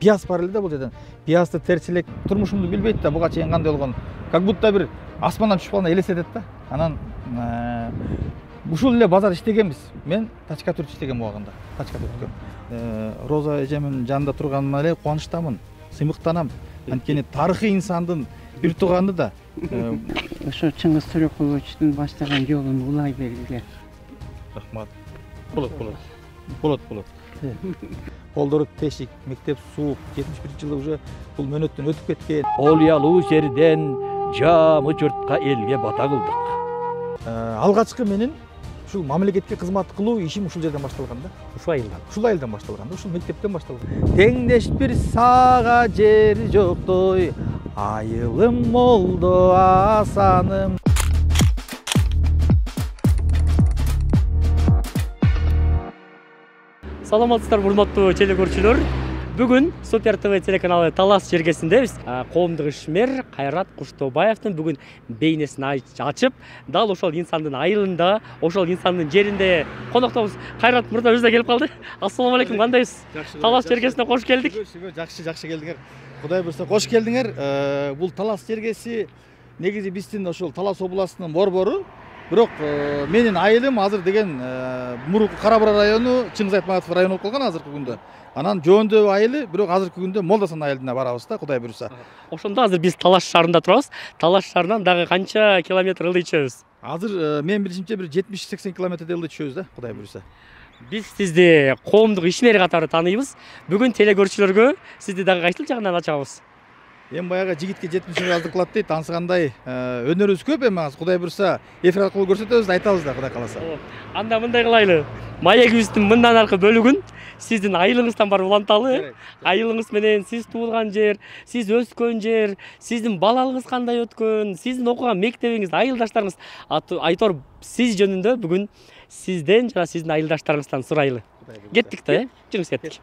пияз бар эле да бул жерден. Пиязды терчи элек турмушумду билбейт да, буга чейин кандай болгонун. Как будто бир асмандан түшүп калгандай элестетет да. Анан ушул эле базар иштегенбиз. Мен Тачка Түрт иштегем убагында. Тачка Түрткө. Роза эжемдин жанында турганыма эле кубанычтамын, сыймыктанам. Анткени тарыхый инсандын бир тууганы да. Ошо Чыңгыз Төрөкуловичтин баштаган жолун улай бергиле. Рахмат. Болот. Колдору тешик, мектеп суук, 71-жылы уже бул мөөнөттөн өтүп кеткен. Олуялуу жерден жамы журтка элге бата кылдык. Алгачкы менин ушул мамлекетке кызмат кылуу ишим ушул жерден башталган да. Ушул айылдан башталган да, ушул мектептен башталган. Теңдеш бир сага жер жоктой, айылым молдо асаным. Саламатсыздарбы, урматтуу телекөрүүчүлөр. Бүгүн Супер ТВ телеканалы Талас жергесиндебиз. Коомдук ишмер Кайрат Куштобаевдин бүгүн бейнесин ачып, дал ошол инсандын айылында, ошол инсандын жеринде коноктобуз. Кайрат мырза өзү да келип калды. Ассалам алейкум, кандайсыз? Талас жергесине кош келдик. Жакшы келдиңер. Кудай буйрса кош келдиңер. Бул Талас жергеси негизи биздин ошол Талас областынын борбору. Бирок менин айылым азыр деген мурунку Кара Бура району, Чыңгыз Айтматов району болуп калган азыркы күндө. Анан Жөөндө айылы, бирок азыркы күндө Молдасан айылына барабыз да, Кудай буйрса. Ошондо азыр биз Талаш шаарында турабыз. Талаш шаарынан дагы канча километр ылдый түшөбүз? Азыр мен билишимче бир 70-80 километрдей ылдый түшөбүз да, Кудай буйрса. Биз сизди коомдук ишмер катары тааныйбыз. Бүгүн телекөрүүчүлөргө сизди дагы кайсыл жагынан ачабыз? Эми баягы жигитке 70 жаздык кылат дейт, ансыгандай өнөрүбүз көп эми азыр Кудай буйрса эфир аркылуу көрсөтөбүз да, айтабыз да, Кудай кааласа. Анда мындай кылайлы. Маегибиздин мындан аркы бөлүгүн сиздин айылыңыздан барып уланталы. Айылыңыз менен сиз туулган жер, сиз өскөн жер, сиздин балалыгыңыз кандай өткөн, сиздин окуган мектебиңиз, айылдаштарыңыз, айтор сиз жөнүндө бүгүн сизден жана сиздин айылдаштарыңыздан сурайлы. Кеттик да, жүрүңүз кеттик.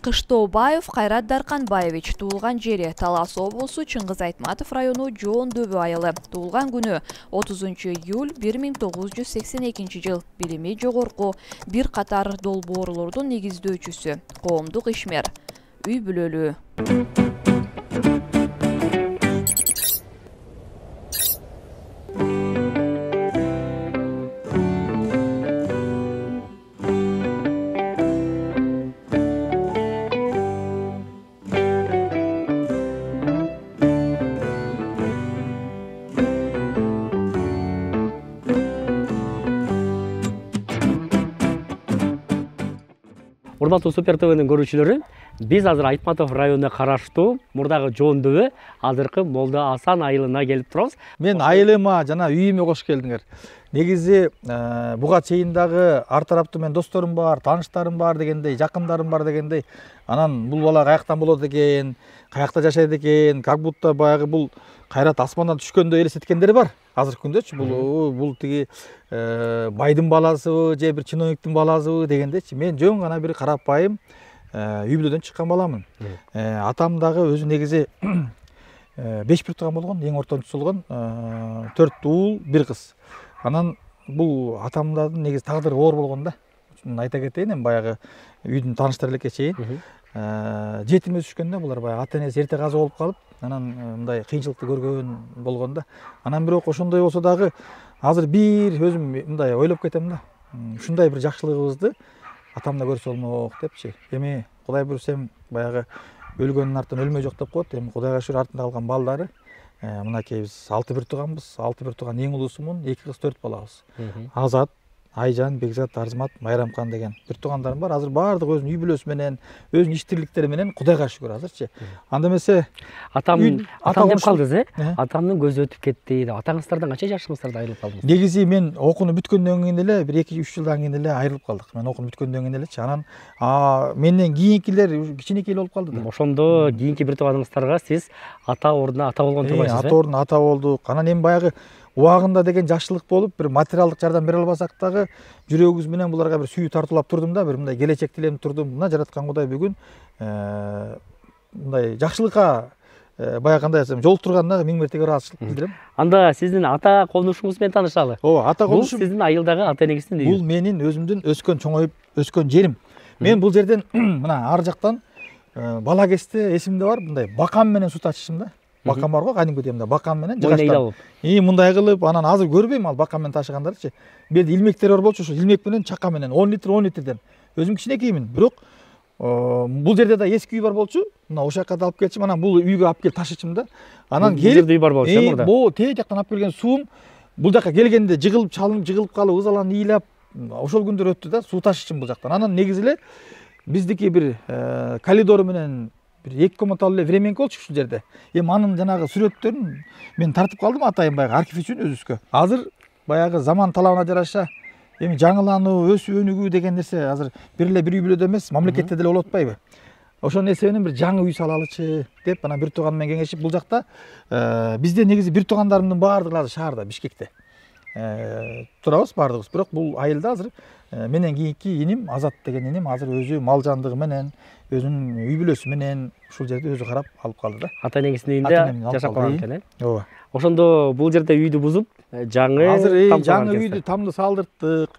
Кыштобаев Кайрат Дарканбаевич туулган жери Талас облусу, Чыңгыз Айтматов району, Жөөндө айылы. Туулган күнү 30 июль 1982 жыл. Билими жогорку, бир катар долбоорлордун негиздөөчүсү, коомдук ишмер, үй бүлөлүү. Урматтуу Супер ТВнин көрүүчүлөрү, биз азыр Айтматов районуна караштуу мурдагы Жөөндө азыркы Молдо Асан айылына келип турабыз. Мен айылыма жана үйүмө кош келдиңер. Негизи буга чейин дагы ар тараптуу мен досторум бар, тааныштарым бар дегендей, жакындарым бар дегендей. Анан бул бала каяктан болот экен, каякта жашайт экен, как будто баягы бул Кайрат асмандан түшкөндөй элестеткендери бар. Азыркы күндөчү бул тиги байдын баласыбы же бир чиновниктин баласыбы дегендейчи. Мен жөн гана бир карапайым үй бүлөдөн чыккан баламын. Атам дагы өзү негизи 5 бир тууган болгон, эң ортончусу болгон, 4 уул, 1 кыз. Анан бул атамдын негизи тагдыры оор болгон да. Айта кетейин, эми баягы үйдүн тааныштары элекке чейин жетим өсүшкөн да, булар баягы ата энеси эрте каза болуп калып, анан мындай кыйынчылыкты көргөн болгон да. Анан бирок ошондой болсо дагы азыр бир өзүм мындай ойлоп кетем да. Ушундай бир жакшылыгыбызды атам да көрсө болмок депчи. Эми Кудай буйрса баягы өлгөндүн артынан өлмөй жок деп коет. Эми Кудайга шүгүр артында калган балдары мынакей биз 6 бир тууганбыз. 6 бир тууган эң улуусумун, 2 кыз 4 балабыз. Азат, Айжан, Бекзат, Арзмат, Майрамкан деген бир туугандарым бар. Азыр баардыгы өзүнүн үй бүлөсү менен, өзүнүн иш тирликтери менен Кудайга шүгүр азырчы. Анда эмесе атам деп калдыңыз, Атамдын көзү өтүп кетти деп. Атаңыздардан канча жашыңыздарда айрылып калдыңыз? Негизи мен окууну бүткөндөн кийин эле бир 2-3 жылдан кийин эле айрылып калдык. Мен окууну бүткөндөн кийин элечи. Анан менден кийинкилер кичинекей болуп калды да. Ошондо кийинки бир тууганыңыздарга сиз ата ордуна ата болгон турбайсыз, ата ордуна ата болдук. Анан эми баягы убагында деген жакшылык болуп, бир материалдык жардам бере албасак дагы жүрөгүбүз менен буларга бир сүйүү тартуулап турдум да, бир мындай келечек тилеп турдум. Мына жараткан Кудай бүгүн мындай жакшылыкка баягы кандай айтсам жолуктурганына миң мертеге ыраазычылык билдирем. Анда сиздин ата конушуңуз менен таанышалы. Ооба, ата Бул конушум сиздин айылдагы ата энеңиздин үйү. бул менин өзүмдүн өскөн чоңоюп өскөн жерим. Мен бул жерден мына ар жактан бала кезде эсимде бар, мындай бакан менен суу ташыйшым да. Бакан бар го, кадимки демде бакан менен жыгачтан. Мындай кылып, анан азыр көрбөйм ал бакан менен ташыгандарды. Бул илмектер бар болчу, ошо илмек менен чака менен 10 литрден. Өзүм кичинекеймин, бирок бул жерде да эски үй бар болчу. Мына ошол жака да алып келчим, анан бул үйгө алып келип ташычым да. Анан келип үй бар болчу мурда. Бул тээ жактан алып келген суум бул жака келгенде жыгылып, чалынып, жыгылып калып, ызаланып, ыйлап, ошол күндөр өттү да, суу ташычым бул жактан. Анан негизи эле биздики бир коридор менен бир 2 комнаталуу эле временка болчу ушул жерде. Анын жанагы сүрөттөрүн мен тартып калдым атайын баягы архив үчүн өзүбүзгө. Азыр баягы заман талабына жараша жаңылануу, өсүп өнүгүү деген нерсе азыр бир эле бир үй бүлөдө эмес, мамлекетте деле болуп атпайбы? Ошол нерсе менен бир жаңы үй салалычы деп анан бир тууган менен кеңешип, бул жакта бизде негизи бир туугандарымдын баардыгы азыр шаарда, Бишкекте турабыз баардыгыбыз. Бирок бул айылда азыр менен кийинки иним Азат деген иним азыр өзү мал жандыгы менен, өзүнүн үй бүлөсү менен ушул жерди өзү карап алып калды да. Ата энеңиздин үйүндө жашап калган экен, Ооба. Ошондо бул жерде үйдү бузуп, жаңы жаңы үйдү тамды салдырттык.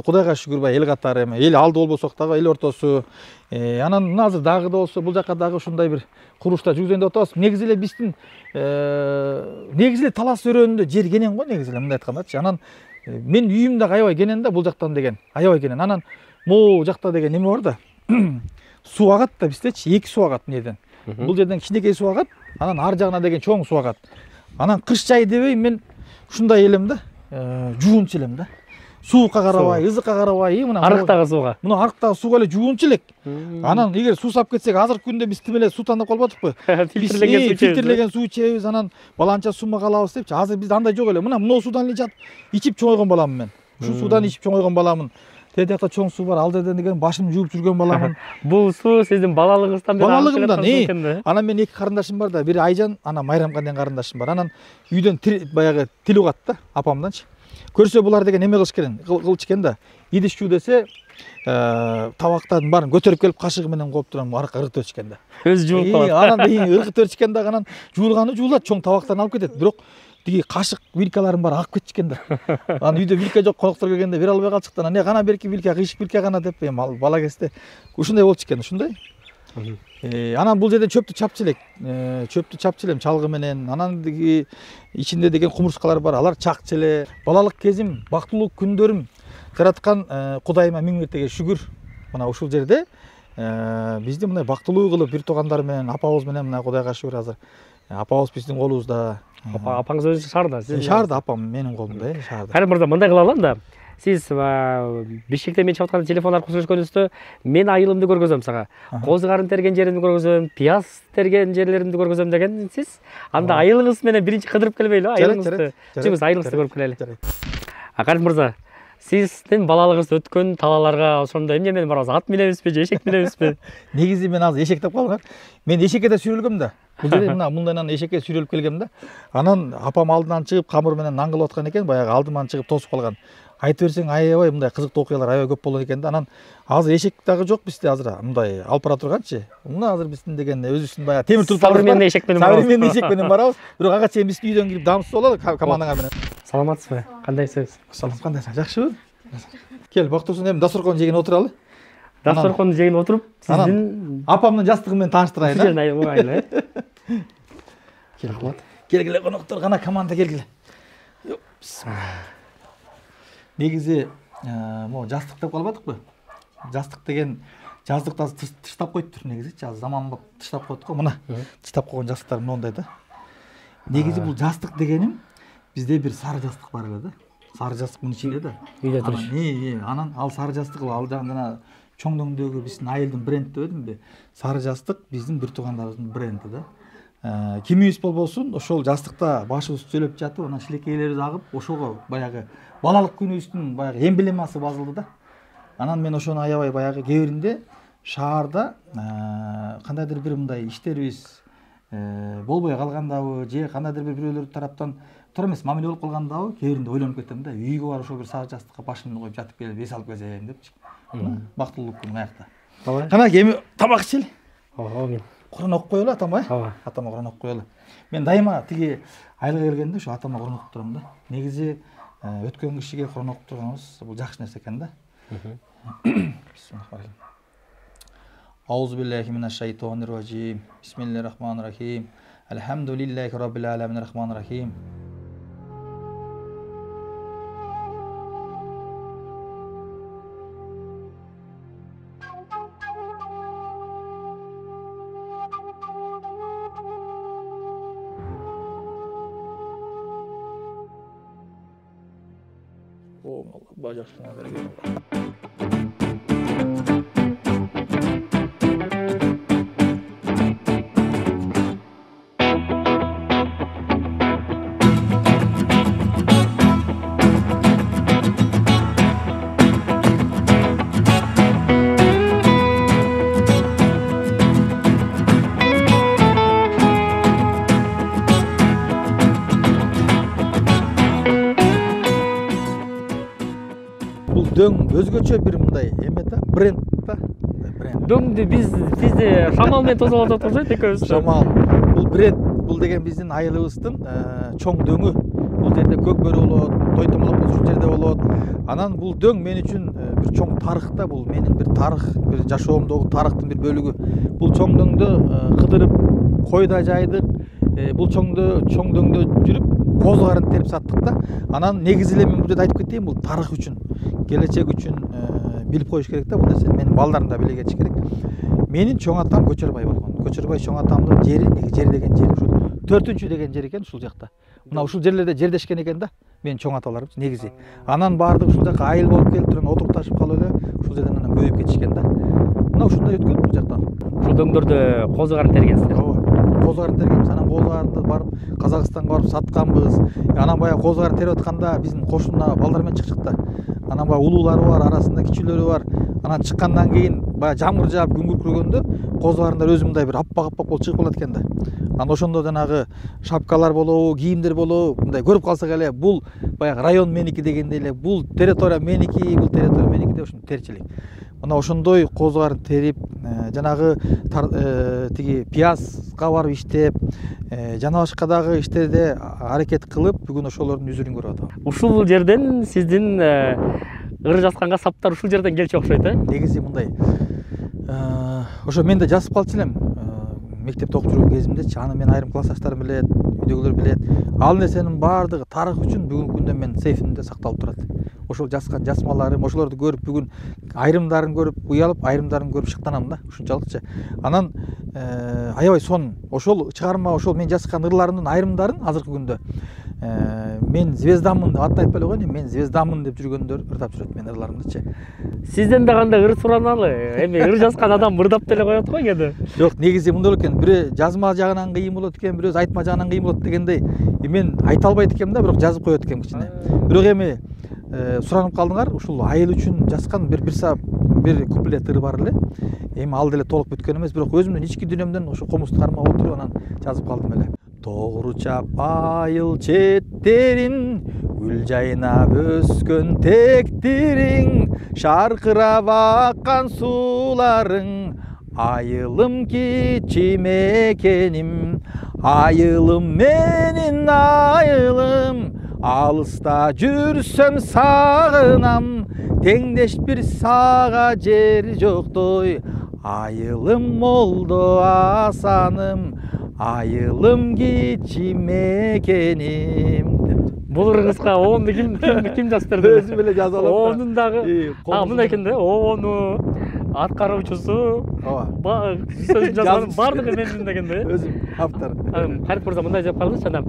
Кудайга шүгүр, эл катары эл алды болбосок дагы эл ортосу. Анан мына азыр дагы да болсо бул жака дагы ушундай бир курулушта жүргүзөйүн деп атабыз. Негизи эле биздин негизи эле талас өрөөнүндө жер кенен го, негизи эле мындай айткандачы. Анан мен үйүм дагы аябай кенен да, бул жактан деген аябай кенен. Анан могу жакта деген неме бар да. Суу агат да биздечи, 2 суу агат мынеден. Бул жерден кичинекей суу агат, анан ар жагына деген чоң суу агат. Анан кыш жай дебей мен ушундай элем да, жуунчу элем да. Суукка карабай, ызыкка карабай, мына арыктагы сууга. Мына арыктагы сууга эле жуунчу элек. Анан эгер суу сап кетсек, азыркы күндө биз тим эле суу тандап калбадыкпы? Фильтрлеген суу ичебиз, анан баланча суума калабыз депчи. Азыр бизде андай жок эле. Мына могу суудан эле жатып ичип чоңойгон баламын мен. Ушул суудан ичип чоңойгон баламын. Тээ жакта чоң суу бар, ал жерден деген башымды жууп жүргөн баламын. Бул суу сиздин балалыгыңыздан бери балалыгымдан. Анан менин 2 карындашым бар да, бири Айжан, анан Майрамга деген карындашым бар. Анан үйдөн баягы тил угат да, апамданчы. Көрсө булар деген эме кылыш керек, кылчу экен да. Идиш жуу десе, табактардын баарын көтөрүп келип кашыгы менен коюп турам, аракка ыргытып өчкөн да. Өзү жууп калат. Анан ыргытып өчкөн да, анан жуулганы жуулат, чоң табактарын алып кетет. Бирок тиги кашык, вилкаларын баары агып кетишкен да. Анан үйдө вилка жок, коноктор келгенде бере албай калчык да. Анан кана берки вилка, кыйшык вилка гана деп, бала кезде ушундай болчу экен, ушундай. Анан бул жерден чөптү чапчу элек. Чөптү чапчу элем чалгы менен. Анан ичинде деген кумурскалар бар, алар чакчу эле. Балалык кезим, бактылуу күндөрүм жараткан Кудайыма миң мертеге шүгүр. Мына ушул жерде бизди мындай бактылуу кылып бир туугандар менен, апабыз менен мына Кудайга шүгүр азыр. Апабыз биздин колубузда. Апаңыз өзү шаарда, сиз? Шаарда, апам менин колумда, шаарда. Кайрым мырза, мындай кылалы анда. Сиз Бишкекте мен чыгып атканда телефон аркылуу сүйлөшкөнүздө мен айылымды көргөзөм сага. Козу карын терген жеримди көргөзөм, пияз терген жерлеримди көргөзөм дегенсиз. Анда айылыңыз менен биринчи кыдырып келбейлби, айылыңызды? Чыгыңыз, айылыңызды көрүп келели. Кайрым мырза, сиздин балалыгыңыз өткөн талааларга ошондо эмне менен барабыз? Ат минебизби же эшек минебизби? Негизи мен азыр эшек деп калдым. Мен эшекке да сүрөлгөм да. Бул жерде мына мындайнан эшекке сүрөлүп келгем да. Анан апам алдынан чыгып камыр менен нан кылып аткан экен, баягы алдыман чыгып тосуп калган. Айтып берсең аябай мындай кызыктуу окуялар аябай көп болот экен да. Анан азыр эшек дагы жок бизде, азыр мындай алып бара турганчы. Мына азыр биздин деген өзүбүздүн баягы темир турпалар. Современный эшек менен барабыз. Современный эшек менен барабыз. Бирок ага чейин биздин үйдөн кирип дамсыз бололу командаңар менен. Саламатсызбы? Кандайсыз? Саламат, кандайсың? Жакшыбы? Кел, бактырсын, эми дасторкон жеген отуралы. Дасторкон жеген отуруп, сиздин апамдын жастыгы менен тааныштырайын. Сиздин айыл. Кел, рахмат. Келгиле коноктор, кана команда келгиле. Негизи могу жастык деп калбадыкпы? Жастык деген жаздыкта тыштап коюптур негизичи. Азыр заманбап тыштап коет го. Мына тыштап койгон жастыктар мондай да. Негизи бул жастык дегеним бизде бир сары жастык бар эле да. Сары жастык мынын ичинде да. Үйдө туруш. Анан ал сары жастык ал жана чоңдөңдөгү биздин айылдын бренди деп эдимби? Сары жастык биздин бир туугандарыбыздын бренди да. Кимибиз болбосун ошол жастыкта башыбыз түзөлүп жатып, анан шилекейлерибиз агып, ошого баягы балалык күнүбүздүн баягы эмблемасы базылды да. Анан мен ошону аябай баягы кээ биринде шаарда кандайдыр бир мындай иштерибиз болбой калгандабы же кандайдыр бир бирөөлөр тараптан туура эмес мамиле болуп калгандабы кээ биринде ойлонуп кетем да. Үйгө барып ошо бир сары жастыкка башымды коюп жатып келип эс алып келсем депчи. Бактылуулук күн аякта. Кана эми тамак ичели. Ооба, Куран окуп коелу атама, Ооба. Атама Куран окуп коелу. Мен дайыма тиги айылга келгенде ушу атама Куран окуп турам да. Негизи өткөн кишиге Куран окуп турганыбыз бул жакшы нерсе экен да. Бисмиллахиррахманиррахим. Аузу биллахи минаш шайтонир ражим. Бисмиллахиррахманиррахим. Алхамдулиллахи раббил аламин рахманиррахим. О, Allah bacaklarına bereket. Бул дөң өзгөчө бир мындай эме да, бренд да. Бренд. Дөңдү бизди шамал менен тосуп атат окшойт экөөбүз. Шамал. Бул бренд, бул деген биздин айылыбыздын чоң дөңү. Бул жерде көк бөрү болот, той томолок ушул жерде болот. Анан бул дөң мен үчүн бир чоң тарых да, бул менин бир тарых, бир жашоомдогу тарыхтын бир бөлүгү. Бул чоң дөңдү кыдырып койда жайдык. Бул чоң дөңдө жүрүп козу карын терип саттык да. Анан негизи эле мен бул жерде айтып кетейин, бул тарых үчүн, келечек үчүн билип коюш керек да, бул нерсени менин балдарым да биле кетиш керек. Менин чоң атам Көчөрбай болгон. Көчөрбай чоң атамдын жери, жер деген жери ушул 4-чү деген жер экен ушул жакта. Мына ушул жерлерде жердешкен экен да, менин чоң аталарым негизи. Анан баардыгы ушул жака айыл болуп келип туруп отурукташып калып эле ушул жерден анан көбөйүп кетишкен да. Мына ушундай өткөн бул жактан. Ушул дөңдөрдө козу карын тергенсиздер. Ооба. Козу карын тергенбиз. Анан козу карынды барып Казакстанга барып сатканбыз. Анан баягы козу карын терип атканда биздин кошуна балдар менен чыкчык да. Анан баягы улуулары бар, арасында кичүүлөрү бар. Анан чыккандан кийин баягы жамгыр жаап күн күркүргөндө козу карындар өзү мындай бир аппак болуп чыгып калат экен да. Анан ошондо жанагы шапкалар болобу, кийимдер болобу, мындай көрүп калсак эле бул баягы район меники дегендей эле, бул территория меники, бул территория меники деп ушинтип терчилик. Мына ошондой козу карын терип, жанагы тиги пиязга барып иштеп, жана башка дагы иштерде аракет кылып, бүгүн ошолордун үзүрүн көрүп атам. Ушул жерден сиздин ыры жазганга саптар ушул жерден келчү окшойт, Негизи мындай. Ошо мен да жазып калчу элем. Мектепте окуп жүргөн кезимдечи, аны мен айрым классташтарым билет, үйдөгүлөр билет. Ал нерсенин баардыгы тарых үчүн бүгүнкү күндө мен сейфимде сакталып турат. Ошол жазган жазмаларым, ошолорду көрүп бүгүн айрымдарын көрүп уялып, айрымдарын көрүп шыктанам да, ушунчалыкчы. Анан аябай сонун. Ошол чыгарма, ошол мен жазган ырларымдын айрымдарын азыркы күндө мен звездамын деп атты айтпай эле коеюн, мен звездамын деп жүргөндөр ырдап жүрөт менин ырларымдычы. Сизден да кандай ыр сураналы? Эми ыр жазган адам ырдап деле коет го кээде. Жок, негизи мындай болот экен. Бирөө жазма жагынан кыйын болот экен, бирөө айтма жагынан кыйын болот дегендей. Мен айта албайт экенмин да, бирок жазып коет экенмин кичине. Бирок эми суранып калдыңар, ушул айыл үчүн жазган бир куплет ыры бар эле. Эми ал деле толук бүткөн эмес, бирок өзүмдүн ички дүйнөмдөн ошо комузду кармап отуруп анан жазып калдым эле. Тогру чап айыл четтерин, гүл жайнап өскөн тектириң, шаркырап аккан сууларың, айылым кичим экеним, айылым менин айылым, алыста жүрсөм сагынам, теңдеш бир сага жер жоктой, айылым молдо асаным, айылым кичим экеним. Бул ырыңызга оонду ким жазып берди? Өзүм эле жазып алам. Оонун дагы мындай экен да, оону аткаруучусу, сөзүн жазган баардыгы менин деген да. Өзүм автор. Карип мырза мындай деп калдыңыз, жана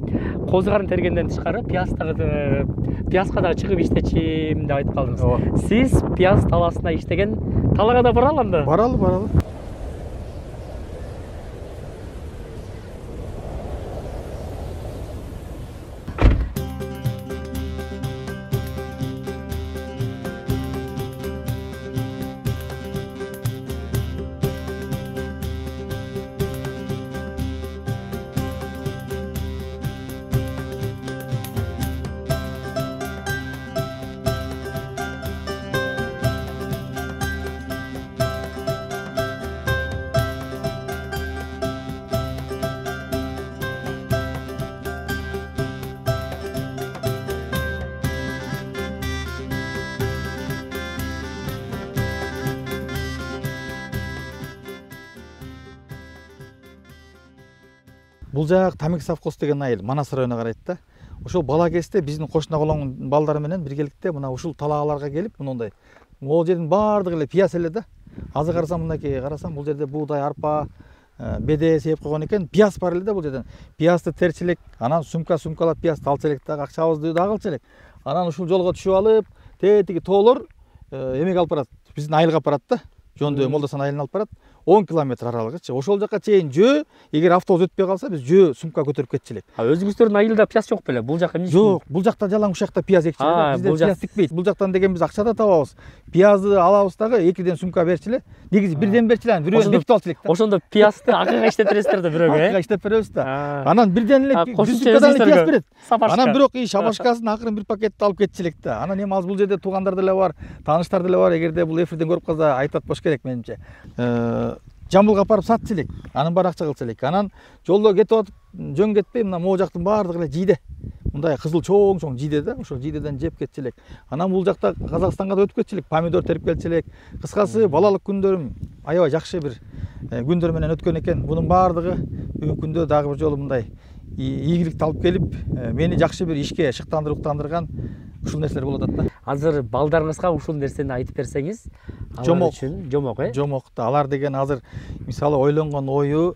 козу карын тергенден тышкары пиязга дагы чыгып иштечим деп айтып калдыңыз. Сиз пияз талаасына иштеген, талаага да баралы анда? Баралы. бул жак Тамик совхоз деген айыл Манас районуна карайт да. Ошол бала кезде биздин кошуна колоң балдары менен биргеликте мына ушул талааларга келип мындай могул жердин баардыгы эле пияз эле да. Азыр карасам мынакей карасам бул жерде буудай, арпа, беде сеп койгон экен. Пияз бар эле да бул жерден. Пиязды терчү элек, анан сумкалап пиязды алчу элек дагы, акчабызды дагы алчу элек. Анан ушул жолго түшүп алып, тетиги тоолор эмеге алып барат. Биздин айылга алып барат да. Жондо Молдосан айылына алып барат. 10 километр аралыгычы. Ошол жака чейин жөө, эгер автобус өтпөй калса, биз жөө сумка көтөрүп кетчү элек. Өзүңүздөрдүн айылда пияз жок беле? Бул жака эмне? Жок, бул жакта жалаң ушакта пияз экчү эле. Бизде пияз тикпейт. Бул жактан деген биз акча да табабыз. Пиязды алабыз дагы, 2ден сумка берчү эле. Негизи бирден берчү эле, бирөөнү бекитип алчу элек да. Ошондо пиязды акыга иштеп бересиздер да бирөөгө, Акыга иштеп беребиз да. Анан бирден эле сумкадан пияз берет. Анан бирок шабашкасын акырын бир пакетти алып кетчү элек да. Анан эми азыр бул жерде туугандар деле бар, тааныштар деле бар. Эгерде бул эфирден көрүп калса айтып атпаш керек менимче. Жамбылга апарып сатчу элек. Анын баары акча кылчу элек. Анан жолдо кетип атып жөн кетпей мына могу жактын баардыгы эле жийде. Мындай кызыл чоң жийде да. Ошол жийдеден жеп кетчү элек. Анан бул жакта Казакстанга да өтүп кетчү элек. Помидор терип келчү элек. Кыскасы балалык күндөрүм аябай жакшы бир күндөр менен өткөн экен. Бунун баардыгы бүгүнкү күндө дагы бир жолу мындай ийгиликти алып келип, мени жакшы бир ишке шыктандырган ушул нерселер болуп атат да. Азыр балдарыңызга ушул нерсени айтып берсеңиз, алар үчүн жомок, Жомок да. Алар деген азыр мисалы ойлонгон ою,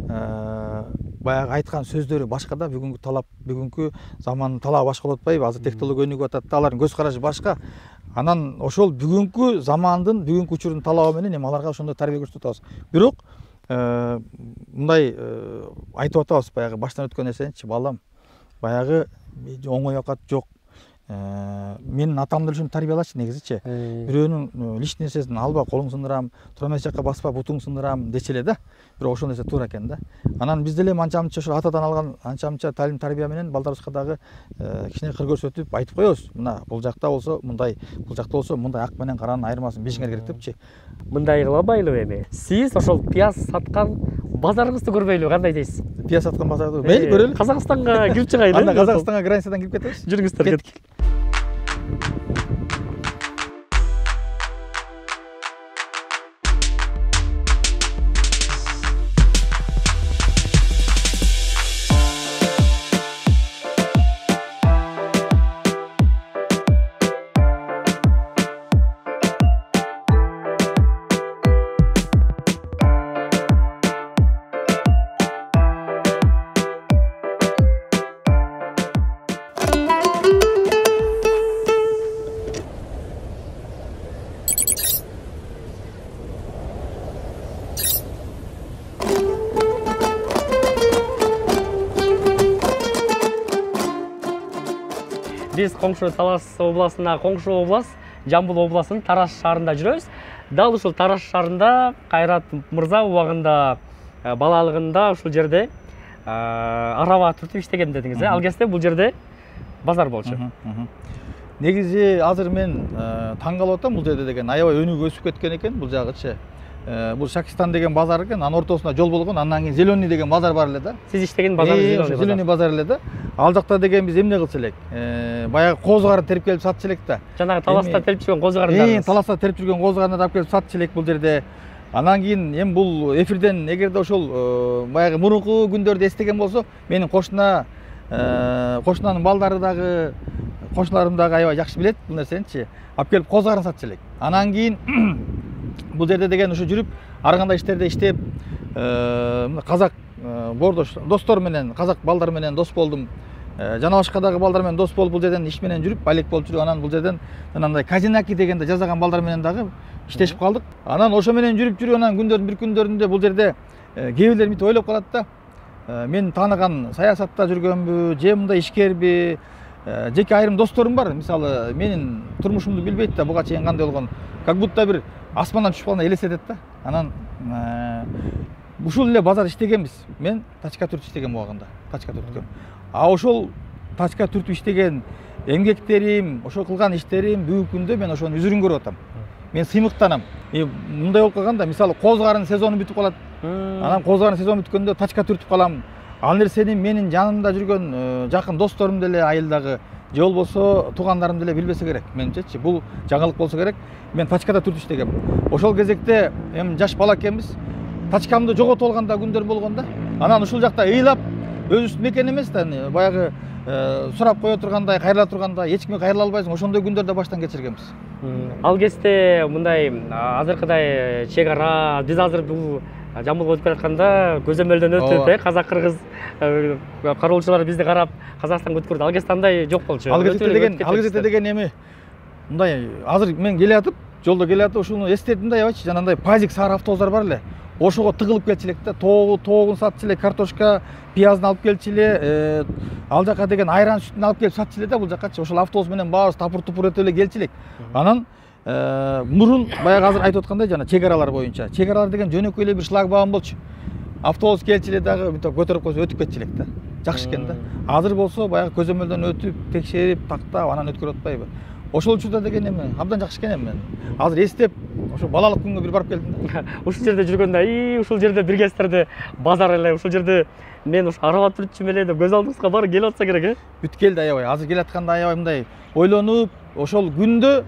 баягы айткан сөздөрү башка да. Бүгүнкү талап, бүгүнкү замандын талабы башка болуп атпайбы? Азыр технология өнүгүп атат да, алардын көз карашы башка. Анан ошол бүгүнкү замандын, бүгүнкү учурдун талабы менен эми аларга ошондой тарбия көрсөтүп атабыз. Бирок мындай айтып атабыз, баягы баштан өткөн нерсеничи, балам, баягы оңой оокат жок. Менин атам деле ушинтип тарбиялачы негизичи. Бирөөнүн личный нерсесин алба, колуң сындырам, туура эмес жакка баспа, бутуң сындырам дечи эле да. Бирок ошол нерсе туура экен да. Анан биз деле анча-мынча ошол атадан алган анча-мынча талим тарбия менен балдарыбызга дагы кичине кыр көрсөтүп айтып коебуз. Мына бул жакта болсо мындай, бул жакта болсо мындай ак менен каранын айырмасын билишиңер керек депчи. Мындай кылабайлыбы эми? Сиз ошол пияз саткан базарыңызды көрбөйлүбү? Кандай дейсиз? Пияз саткан базарды мейли көрөлү. Казакстанга кирип чыгайлы. Анда Казакстанга границадан кирип кетебиз. Жүрүңүздөр, кеттик. Биз коңшу Талас областына, коңшу область, Жамбыл областынын Тараш шаарында жүрөбүз. Дал ушул Тараш шаарында Кайрат мырза убагында балалыгында ушул жерде араба түртүп иштеген дедиңиз, ал кезде бул жерде базар болчу. Негизи азыр мен таң калып атам, бул жерде деген аябай өнүгүп өсүп кеткен экен бул жагычы. Бул Шакистан деген базар экен, анын ортосунда жол болгон, андан кийин Зеленый деген базар бар эле да. Сиз иштеген базар Зеленый базар эле да. Ал жакта деген биз эмне кылчу элек? Баягы козу карын терип келип сатчу элек да. Жанагы Таласта терип жүргөн козу карындарды. Таласта терип жүргөн козу карындарды алып келип сатчу элек бул жерде. Андан кийин эми бул эфирден эгерде ошол баягы мурунку күндөрдү эстеген болсо, менин кошунанын балдары дагы, кошуналарым дагы аябай жакшы билет бул нерсеничи. Алып келип козу карын сатчу элек. Андан кийин бул жерде деген ушу жүрүп, ар кандай иштерде иштеп, казак бордош достор менен, казак балдар менен дос болдум. Жана башка дагы балдар менен дос болуп бул жерден иш менен жүрүп, балек болуп жүрүп, анан бул жерден жанагындай Казинаки дегенде жазаган балдар менен дагы иштешип калдык. Анан ошо менен жүрүп, анан күндөрдүн бир күндөрүндө бул жерде кээ бирлер мынтип ойлоп калат да. Мен тааныган саясатта жүргөнбү, же мындай ишкерби, жеке айрым досторум бар. Мисалы, менин турмушумду билбейт да, буга чейин кандай болгон. Как будто бир асмандан түшүп калгандай элестетет да. Анан ушул эле базар иштегенбиз. Мен тачка түртүп иштеген убагында, тачка түрткөм. А ошол тачка түртүп иштеген эмгектерим, ошол кылган иштерим бүгүнкү күндө мен ошонун үзүрүн көрүп атам. Мен сыймыктанам. Мындай болуп калганда, мисалы, козу карын сезону бүтүп калат. Анан козу карын сезону бүткөндө тачка түртүп калам. Ал нерсени менин жанымда жүргөн жакын досторум деле, айылдагы же болбосо туугандарым деле билбесе керек. Менимчечи, бул жаңылык болсо керек. Мен тачкада түртүп иштегем. Ошол кезекте эми жаш бала экенбиз. Тачкамды жоготуп алган да күндөр болгон да. Анан ушул жакта ыйлап өзүбүздүн мекен эмес да, баягы сурап кое тургандай, кайрыла турганда эч кимге кайрыла албайсың. Ошондой күндөрдү баштан кечиргенбиз. Ал кезде мындай азыркыдай чек ара, биз азыр бул жамбылга өтүп келатканда көзөмөлдөн өтүп, казак кыргыз кароолчулар бизди карап Казакстанга өткөрдү. Ал кезде андай жок болчу. Ал кезде деген эми мындай азыр мен келе атып, жолдо келе атып ушуну эстедим да, аябайчы. Жанагындай пазик сары автобустар бар эле. Ошого тыгылып келчү элек да, тоогун сатчу эле, картошка, пиязын алып келчү эле, ал жака деген айран сүтүн алып келип сатчу эле да бул жакачы. Ошол автобус менен баарыбыз тапур-тупур өтүп эле келчү элек. Анан мурун баягы азыр айтып аткандай жана чек аралар боюнча. Чек аралар деген жөнөкөй эле бир шлагбаум болчу. Автобус келчү эле дагы мынтип көтөрүп койсо өтүп кетчү элек да. Жакшы экен да. Азыр болсо баягы көзөмөлдөн өтүп, текшерип, тактап анан өткөрүп атпайбы? Ошол учурда деген эми абдан жакшы экен эми. Азыр эстеп, ошо балалык күнгө бир барып келдим да. Ушул жерде жүргөндө, ушул жерде бир кездерде базар эле, ушул жерде мен ушу аралап жүрчүмүн эле деп көз алдыбызга барып келип атса керек, Бүт келди аябай. Азыр келатканда аябай мындай ойлонуп, ошол күндө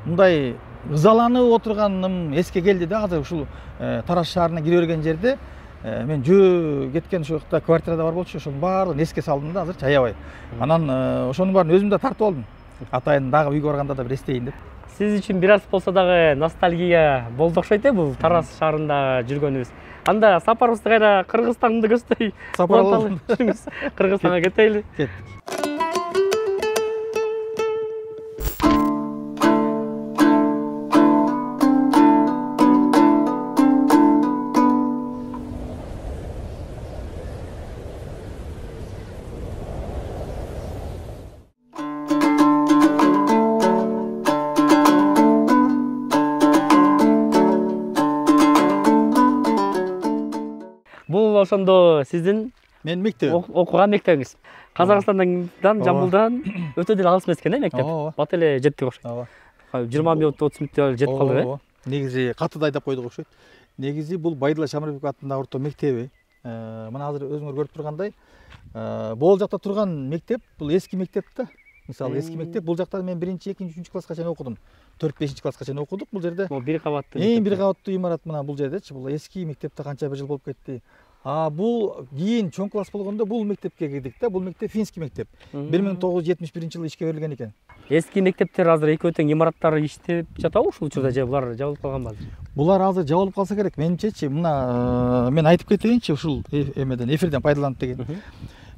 мындай ызаланып отурганым эске келди да. Азыр ушул Тараз шаарына кире берген жерде мен жөө кеткен ошол жакта квартирада бар болчу, ошонун баардыгын эске салдым да азырчы аябай. Анан ошонун баарын өзүм да тартып алдым. Атайын дагы үйгө барганда да бир эстейин деп. Сиз үчүн бир аз болсо дагы ностальгия болду окшойт бул Тараз шаарында жүргөнүбүз. Анда сапарыбызды кайра Кыргызстанды көздөй жүрүңүз. Кыргызстанга кетели. Кет. Бул ошондо сиздин Мен мектеп окуган мектебиңиз. Казакстандан, Жамбылдан өтө деле алыс эмес экен, мектеп. Бат эле жеттик окшойт. Ооба. 20 мүнөт 30 мүнөттө жетип калдык, Негизи катыда айдап койдук окшойт. Негизи бул Байдыла Шамарбеков атындагы орто мектеби. Мына азыр өзүңөр көрүп тургандай, бул жакта турган мектеп бул эски мектеп да. Мисалы эски мектеп, бул жакта мен 1-2, 3 класска чейин окудум. 4-5 класска чейин окудук бул жерде. Бул бир кабаттуу. Бир кабаттуу имарат мына бул жердечи. Бул эски мектепте канча бир жыл болуп кетти. Бул кийин чоң класс болгондо бул мектепке кирдик да. Бул мектеп финский мектеп. 1971-жылы ишке берилген экен. Эски мектептер азыр экөө тең имараттары иштеп жатабы ушул учурда же булар жабылып калганбы азыр? Булар азыр жабылып калса керек. Менимчечи, мына мен айтып кетейинчи ушул эмеден, эфирден пайдаланып деген.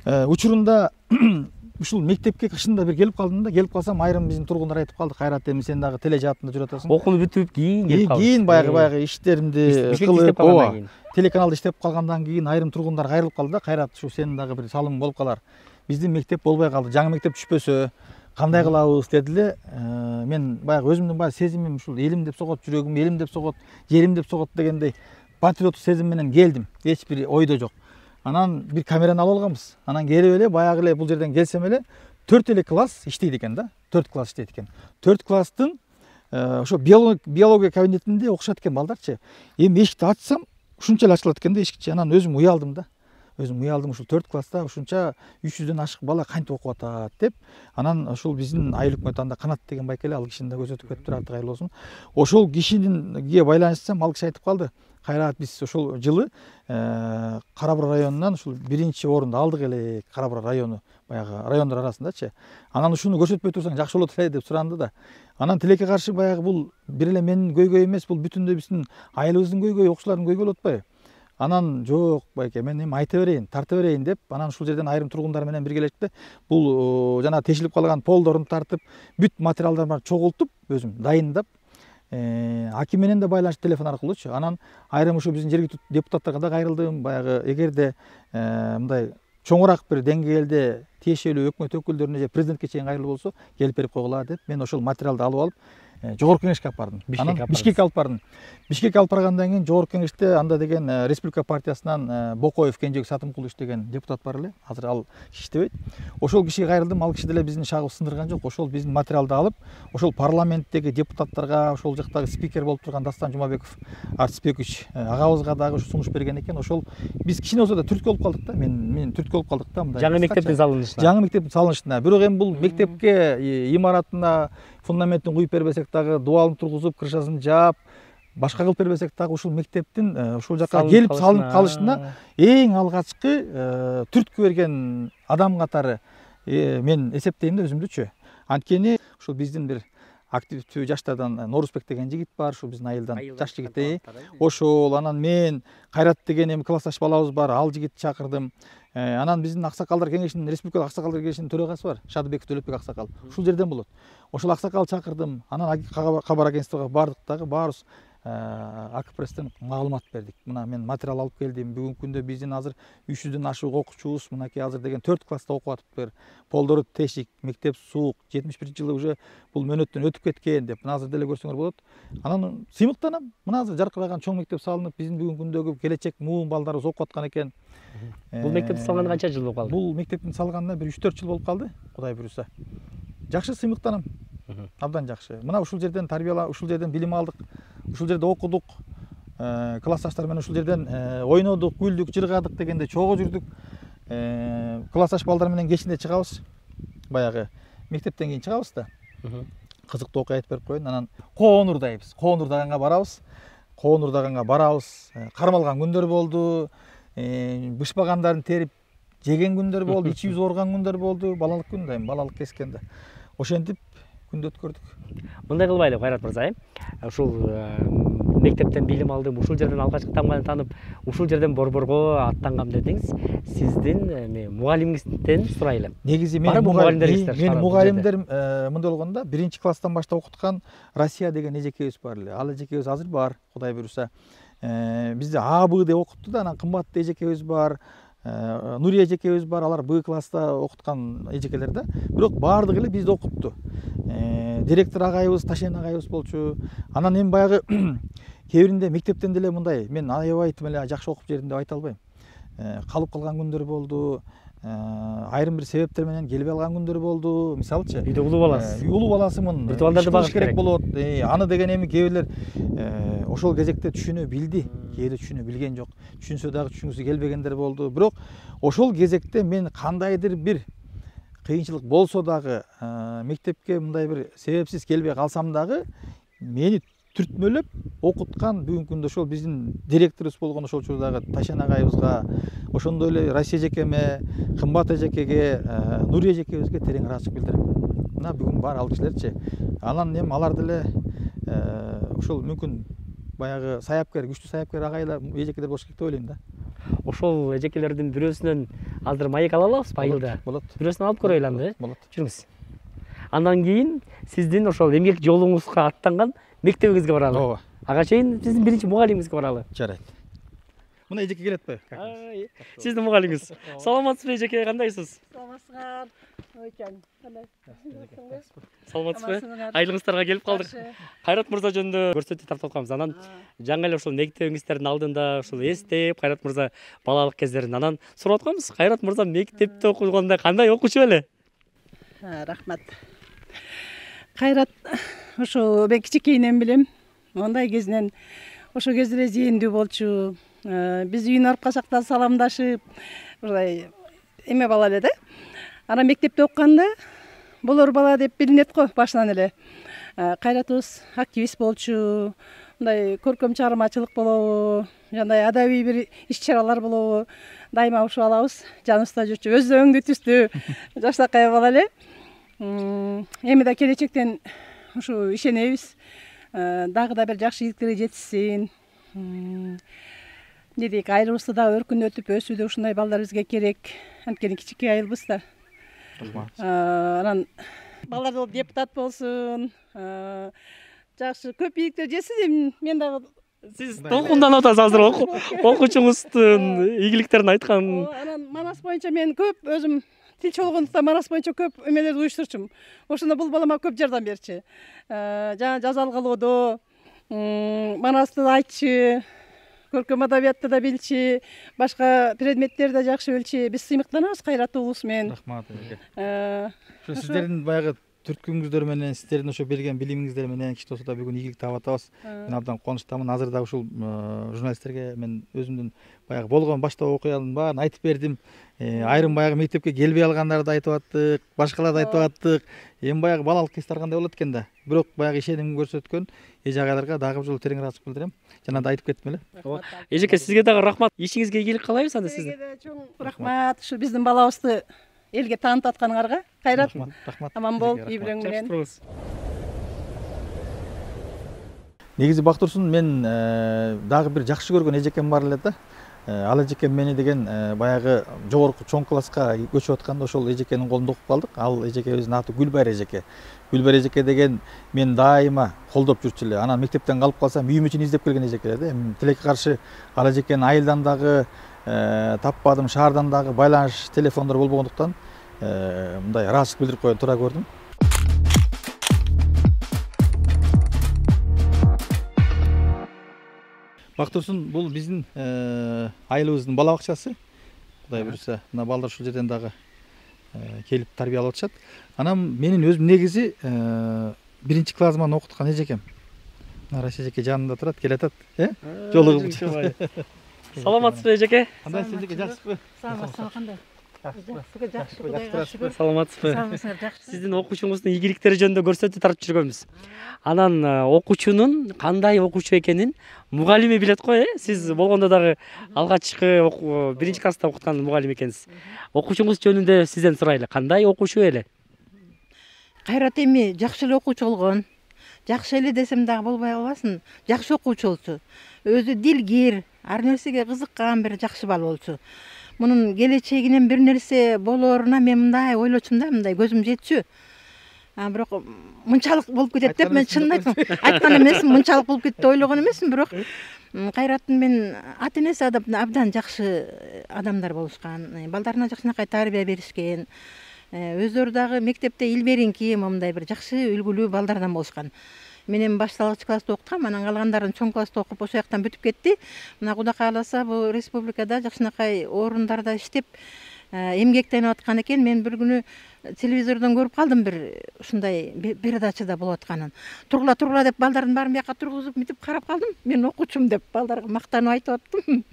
Учурунда ушул мектепке кышында бир келип калдым да. Келип калсам айрым биздин тургундар айтып калды, Кайрат эми сен дагы теле жаатында жүрүп атасың. Окууну бүтүп кийин келип калдым. Кийин баягы иштеримди кылып, телеканалда иштеп калгандан кийин айрым тургундар кайрылып калды да. Кайрат, ушу сенин дагы бир салымың болуп калар. Биздин мектеп болбой калды. Жаңы мектеп түшпөсө кандай кылабыз деди эле. Мен баягы өзүмдүн баягы сезимим ушул элим деп согот, жүрөгүм элим деп согот, жерим деп согот дегендей патриоттук сезим менен келдим. Эч бир ойдо жок. Анан бир камераны алып алганбыз. Анан келип эле баягы эле бул жерден келсем эле 4 эле класс иштейт экен да. 4 класс иштейт экен. 4 класстын ошо биология кабинетинде окушат экен балдарчы. Эми эшикти ачсам ушунча эле ачылат экен да эшикчи. Анан өзүм уялдым да. Өзүм уялдым, ушул 4 класста ушунча 300дөн ашык бала кантип окуп атат деп. Анан ошол биздин айыл өкмөт анда Канат деген байкеле, ал кишини да көрсөтүп кетиптир, аты кайырлуу болсун. Ошол кишининге байланышсам, ал киши айтып калды. Кайрат, биз ошол жылы Кара Бура районунан ушул 1-орунду алдык эле, Кара Бура району, баягы райондор арасындачы. Анан ушуну көрсөтпөй турсаң жакшы болот эле деп суранды да. Анан тилекке каршы баягы бул бир эле менин көйгөй эмес, бул бүтүндөй биздин айылыбыздын көйгөйү, окуучулардын көйгөйү болуп атпайбы? Анан жок байке, мен эми айта берейин, тарта берейин деп, анан ушул жерден айрым тургундар менен биргелешти. Бул жана тешилип калган полдорун тартып, бүт материалдарды чогултуп, өзүм дайындап, аким менен да байланыш телефон аркылуучу. Анан айрым ушу биздин жергиликтүү депутаттарга да кайрылдым. Баягы эгерде мындай чоңураак бир деңгээлде тиешелүү өкмөт өкүлдөрүнө же президентке чейин кайрылуу болсо, келип берип койгула деп мен ошол материалды алып алып жогорку кеңешке алып бардым. Бишкекке алып бардым. Бишкекке алып баргандан кийин жогорку кеңеште анда деген Республика партиясынан Бокоев Кенжебек Сатымкулович деген депутат бар эле. Азыр ал иштебейт. Ошол кишиге кайрылдым. Ал киши деле биздин шагыбызды сындырган жок. Ошол биздин материалды алып, ошол парламенттеги депутаттарга, ошол жактагы спикер болуп турган Дастан Жумабеков Артисбекович агабызга дагы сунуш берген экен. Ошол биз кичине болсо да түрткү болуп калдык да. Мен түрткү болуп калдык да мындай. Жаңы мектептин салынышына. Жаңы мектептин салынышына. Бирок эми бул мектепке имаратына фундаментин куюп бербесек дагы дуалын тургузуп, крышасын жаап, башка кылып бербесек дагы ушул мектептин ушул жака келип салынып калышына эң алгачкы түрткү берген адам катары мен эсептейм да өзүмдүчү. Анткени ушул биздин бир активдүү жаштардан Норузбек деген жигит бар, ушул биздин айылдан жаш жигит. Ошол анан мен Кайрат деген эми классташ балабыз бар, ал жигитти чакырдым. Анан биздин аксакалдар кеңешинин, республикалык аксакалдар кеңешинин төрагасы бар, Шадыбеков Төлөпбек аксакал. Ушул жерден болот. Ошол аксакал чакырдым. Анан кабар агентствого бардык дагы, баарыбыз АКПресстен маалымат бердик. Мына мен материал алып келдим. Бүгүнкү күндө биздин азыр 300дөн ашык окуучубуз мынакей азыр деген 4 класста окуп атыптыр. Полдору тешик, мектеп суук, 71-жылы уже бул мөөнөттөн өтүп кеткен деп. Мына азыр деле көрсөңөр болот. Анан сыймыктанам. Мына азыр жаркыраган чоң мектеп салынып, биздин бүгүнкү күндөгү келечек муун балдарыбыз окуп аткан экен. Бул мектепти салганына канча жыл болуп калды? Бул мектептин салганына бир 3-4 жыл болуп калды, Кудай буйруса. Жакшы сыймыктанам. Абдан жакшы. Мына ушул жерден ушул жерден билим алдык. Ушул жерде окудук. Классташтар менен ушул жерден ойнодук, күлдүк, жыргадык дегенде чогуу жүрдүк. Классташ балдар менен кечинде чыгабыз. Баягы мектептен кийин чыгабыз да. Кызыктуу окуя айтып берип коеюн. Анан Коонурдайбыз. Коонурдаганга барабыз. Кармалган күндөр болду. Бышпагандарын терип жеген күндөр болду, ичибиз ооруган күндөр болду. Балалык күн да, балалык кескенде. Ошентип күндү өткөрдүк. Мындай кылбайлы Кайрат мырза, ушул мектептен билим алдым, ушул жерден алгачкы таңбаны таанып, ушул жерден борборго аттангам дедиңиз. Сиздин мугалимиңизден сурайлы. Негизи менин мугалимдер мындай болгондо 1-класстан баштап окуткан Россия деген эжекебиз бар эле. Ал эжекебиз азыр бар, Кудай буйруса. Бизде АБ деп окутту да, анан кымбаттуу эжекебиз бар. Нурия эжекебиз бар, алар Б класста окуткан эжекелер да. Бирок баардыгы эле бизде окупту. Директор агайыбыз, Ташен агайыбыз болчу. Анан эми баягы кээ биринде мектептен деле мындай, мен аябай тим эле жакшы окуп жердим деп айта албайм. Калып калган күндөр болду. Айрым бир себептер менен келбей алган күндөр болду. Мисалычы, үйдө улуу баласы. Улуу баласымын. Балдарды багыш керек болот. Аны деген эми кээ бирлер ошол кезекте түшүнө билди. Кээде түшүнө билген жок. Түшүнсө дагы түшүнгүсү келбегендер болду. Бирок ошол кезекте мен кандайдыр бир кыйынчылык болсо дагы, мектепке мындай бир себепсиз келбей калсам дагы, мени түртмөлөп окуткан бүгүнкү күндө ошол биздин директорубуз болгон ошол учурдагы Ташен агайыбызга, ошондой эле Россия эжекеме, кымбат эжекеге, Нурия эжекебизге терең ыраазычылык билдирем. Мына бүгүн бар ал кишилерчи. Анан эми алар деле ошол мүмкүн баягы саяпкер, күчтүү саяпкер агайлар, эжекелер болуш керек деп ойлойм да. Ошол эжекелердин бирөөсүнөн азыр маек ала алабызбы айылда? Болот. Бирөөсүн алып көрөйлү анда. Болот. Жүрүңүз. Андан кийин сиздин ошол эмгек жолуңузга аттанган мектебиңизге баралы. Ооба. Ага чейин биздин биринчи мугалимибизге баралы. Жарайт. Мына эжеке келетпи? Сиздин мугалимиңиз. Саламатсызбы эжеке, кандайсыз? Саламатсыздар. Ойчан, кандай? Саламатсызбы? Айылыңыздарга келип калдык. Кайрат мырза жөнүндө көрсөтүү тартып атканбыз. Анан жаңы эле ошол мектебиңиздердин алдында ушул эстеп, Кайрат мырза балалык кездерин анан сурап атканбыз. Кайрат мырза мектепте окуганда кандай окуучу эле? Рахмат. Кайрат ошо мен кичинекейинен билем. Ондай кезинен ошо кезде эле зээндүү болчу. Биз үйүнө барып калсак да саламдашып, ушулай эме бала эле да. Анан мектепте окуганда болор бала деп билинет го башынан эле. Кайратыбыз активист болчу. Мындай көркөм чыгармачылык болобу, жандай адабий бир иш-чаралар болобу, дайыма ушул алабыз, жаныбызда жүрчү. Өзү да өңдүү түстүү, жаштакай бала эле. Эми да келечектен ушу ишенебиз. Дагы да бир жакшы ийгиликтерге жетишсин. Дедик, айылыбызды да өркүндөтүп өсүүдө ушундай балдар бизге керек. Анткени кичинекей айылбыз да. Анан балдар да депутат болсун. Жакшы көп ийгиликтер жетсин. Мен дагы сиз толкунданып атасыз азыр окуучуңуздун ийгиликтерин айткан. Анан Манас боюнча мен көп өзүм тилчи болгондуктан Манас боюнча көп эмелерди уюштурчумун. Ошондо бул балама көп жардам берчи. Жана жаза алгалоодо Манасты айтчы, көркөм адабиятты да билчи, башка предметтерди да жакшы билчи. Биз сыймыктанабыз Кайрат уулубуз менен. Рахмат. Ошо сиздердин баягы түрткүңүздөр менен сиздердин ошо берген билимиңиздер менен кичи болсо да бүгүн ийгилик таап атабыз. Мен абдан кубанычтамын. Азыр дагы ушул журналисттерге мен өзүмдүн баягы болгон баштап окуянын баарын айтып бердим. Айрым баягы мектепке келбей алгандарды айтып аттык, башкаларды айтып аттык. Эми баягы балалык хистер кандай болот экен да. Бирок баягы ишенимин көрсөткөн эже агайларга дагы бир жолу терең ыраазычылык билдирем. Жана да айтып кеттим эле. Эжеке, сизге дагы рахмат. Ишиңизге ийгилик каалайбыз анда сиздин. Сизге да чоң рахмат. Ушу биздин балабызды элге таанытып атканыңарга. Кайрат. Рахмат. Аман бол, үй бүлөң менен. Негизи Бактурсун мен дагы бир жакшы көргөн эжекем бар эле да. Ал эжекем мени деген баягы жогорку чоң класска көчүп атканда ошол эжекенин колунда окуп калдык. Ал эжекебиздин аты Гүлбайыр эжеке. Гүлбайыр эжеке деген мен дайыма колдоп жүрчү эле. Анан мектептен калып калсам үйүм үчүн издеп келген эжеке да. Эми тилекке каршы ал эжекенин айылдан дагы таппадым, шаардан дагы байланыш телефондор болбогондуктан мындай ыраазычылык билдирип коюу туура көрдүм. Бактурсун, бул биздин айылыбыздын бала бакчасы. Кудай буюрса, мына балдар ушул жерден дагы келип тарбиялап атышат. Анан менин өзүм негизи 1-чи классыман окуткан эжекем. Нараш эжеке жанымда турат, келатат, жолугуп. Саламатсызбы эжеке? Кандай эжеке, жакшысызбы? Саламатсызбы, кандай? Жакшы, Кудайга шүгүр. Саламатсызбы? Саламатсыздар, жакшы. Сиздин окуучуңуздун ийгиликтери жөнүндө көрсөтүү тартып жүргөнбүз. Анан окуучунун кандай окуучу экенин мугалими билет го, Сиз болгондо дагы алгачкы 1-чи класста окуткан мугалим экенсиз. Окуучуңуз жөнүндө сизден сурайлы. Кандай окуучу эле? Кайрат эми жакшы эле окуучу болгон. Жакшы эле десем дагы болбой калбасын. Жакшы окуучу болчу. Өзү дилгир, ар нерсеге кызыккан бир жакшы бала болчу. Мунун келечегинен бир нерсе болооруна мен мындай ойлочумун да, мындай көзүм жетчү. Бирок мынчалык болуп кетет деп мен чынын айтсам айткан эмесмин, мынчалык болуп кетти деп ойлогон эмесмин, бирок Кайраттын мен ата энеси абдан жакшы адамдар болушкан, балдарына жакшынакай тарбия беришкен. Өздөрү дагы мектепте илберинки мындай бир жакшы үлгүлүү балдардан болушкан. Мен эми башталгыч класста окуткам, анан калгандарын чоң класста окуп ошол жактан бүтүп кетти. Мына Кудай кааласа бул республикада жакшынакай орундарда иштеп эмгектенип аткан экен. Мен бир күнү телевизордон көрүп калдым бир ушундай передачада болуп атканын. Тургула деп балдардын баарын бияка тургузуп мынтип карап калдым. Мен окуучум деп балдарга мактанып айтып аттым.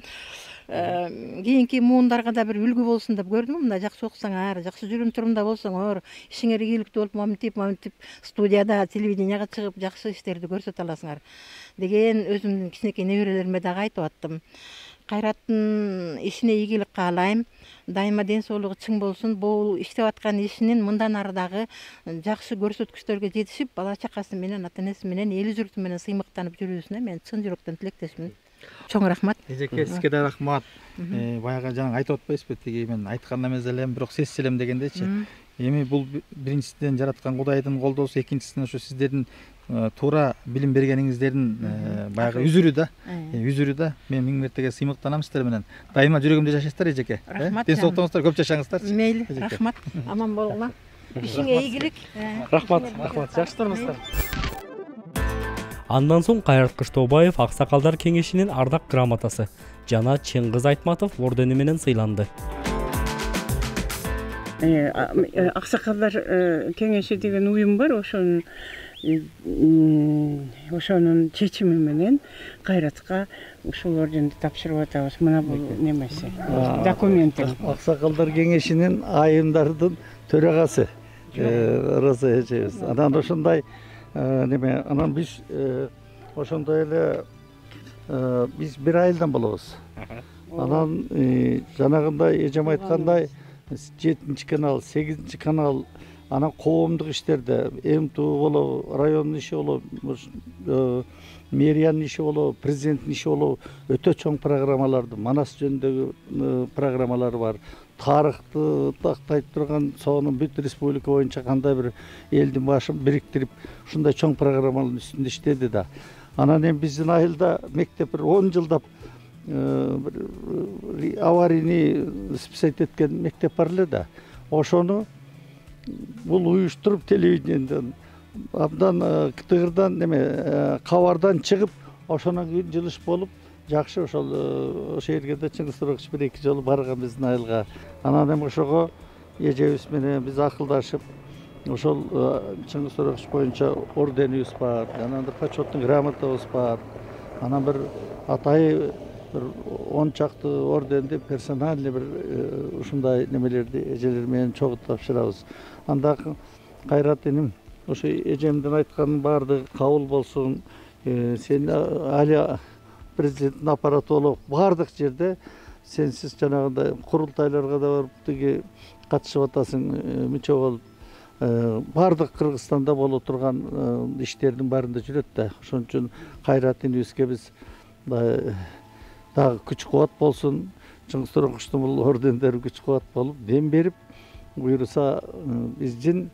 Кийинки муундарга да бир үлгү болсун деп көрдүм. Мындай жакшы окусаңар, жакшы жүрүм турумда болсоңор, ишиңер ийгиликтүү болуп мынтип студияда, телевиденияга чыгып жакшы иштерди көрсөтө аласыңар деген өзүмдүн кичинекей неберелериме дагы айтып аттым. Кайраттын ишине ийгилик каалайм. Дайыма ден соолугу чың болсун. Бул иштеп аткан ишинин мындан ары дагы жакшы көрсөткүчтөргө жетишип, бала чакасы менен, ата энеси менен, эл журту менен сыймыктанып жүрүүсүнө мен чын жүрөктөн тилектешмин. Чоң рахмат. Эжеке, сизге да рахмат. Баягы жаңы айтып атпайсызбы, тиги мен айткан эмес элем, бирок сезсем дегендечи. Эми бул биринчисинен жараткан Кудайдын колдоосу, экинчисинен ошо сиздердин туура билим бергениңиздердин баягы үзүрү да. Мен миң мертеге сыймыктанам сиздер менен. Дайыма жүрөгүмдө жашайсыздар эжеке. Рахмат. Ден соолуктуңуздар, көп жашаңыздар. Мейли, рахмат. Аман болгула. Ишиңе ийгилик. Рахмат. Жакшы туруңуздар. Андан соң Кайрат Кыштообаев Аксакалдар кеңешинин ардак грамотасы жана Чыңгыз Айтматов ордени менен сыйланды. Аксакалдар кеңеши деген уюм бар, ошонун чечими менен Кайратка ушул орденди тапшырып атабыз. Мына бул немеси, документи. Аксакалдар кеңешинин айымдардын төрагасы Роза эжебиз. Анан ошондой анан биз ошондой эле биз бир айылдан болобуз. Анан жанагындай эжем айткандай 7-чи канал, 8-чи канал, анан коомдук иштерде МТУ болобу, райондун иши болобу, мэриянын иши болобу, президенттин иши болобу, өтө чоң программаларды, Манас жөнүндөгү программалары бар. Тарыхты тактайт турган сонун бүт республика боюнча кандай бир элдин башын бириктирип, ушундай чоң программалардын үстүндө иштеди да. Анан эми биздин айылда мектеп бир 10 жылдап аварийный спасать эткен мектеп бар эле да. Ошону бул уюштуруп телевидениеден абдан Кытыгырдан кабардан чыгып, ошонун кийин жылыш болуп, жакшы ошол жерге да Чыңгыз Тууракович 1-2 жолу барган биздин айылга. Анан эми ошого эжебиз менен биз акылдашып, ошол Чыңгыз Торекович боюнча орденибиз бар, анан почеттин грамотабыз бар, анан бир атайы бир 10 чакты орденди персональный бир ушундай немелерди эжелер менен чогуу тапшырабыз. Анда Кайрат иним, ошо эжемдин айтканын баардыгы кабыл болсун. Сен али президенттин аппараты болуп баардык жерде сенсиз жанагындай курултайларга да барып тиги катышып атасың, мүчө болуп. Баардык Кыргызстанда боло турган иштердин баарында жүрөт да. Ошон үчүн Кайрат инибизге биз дагы күч кубат болсун. Чыңгыз Торековичтин бул ордендери күч кубат болуп, дем берип, буюрса биздин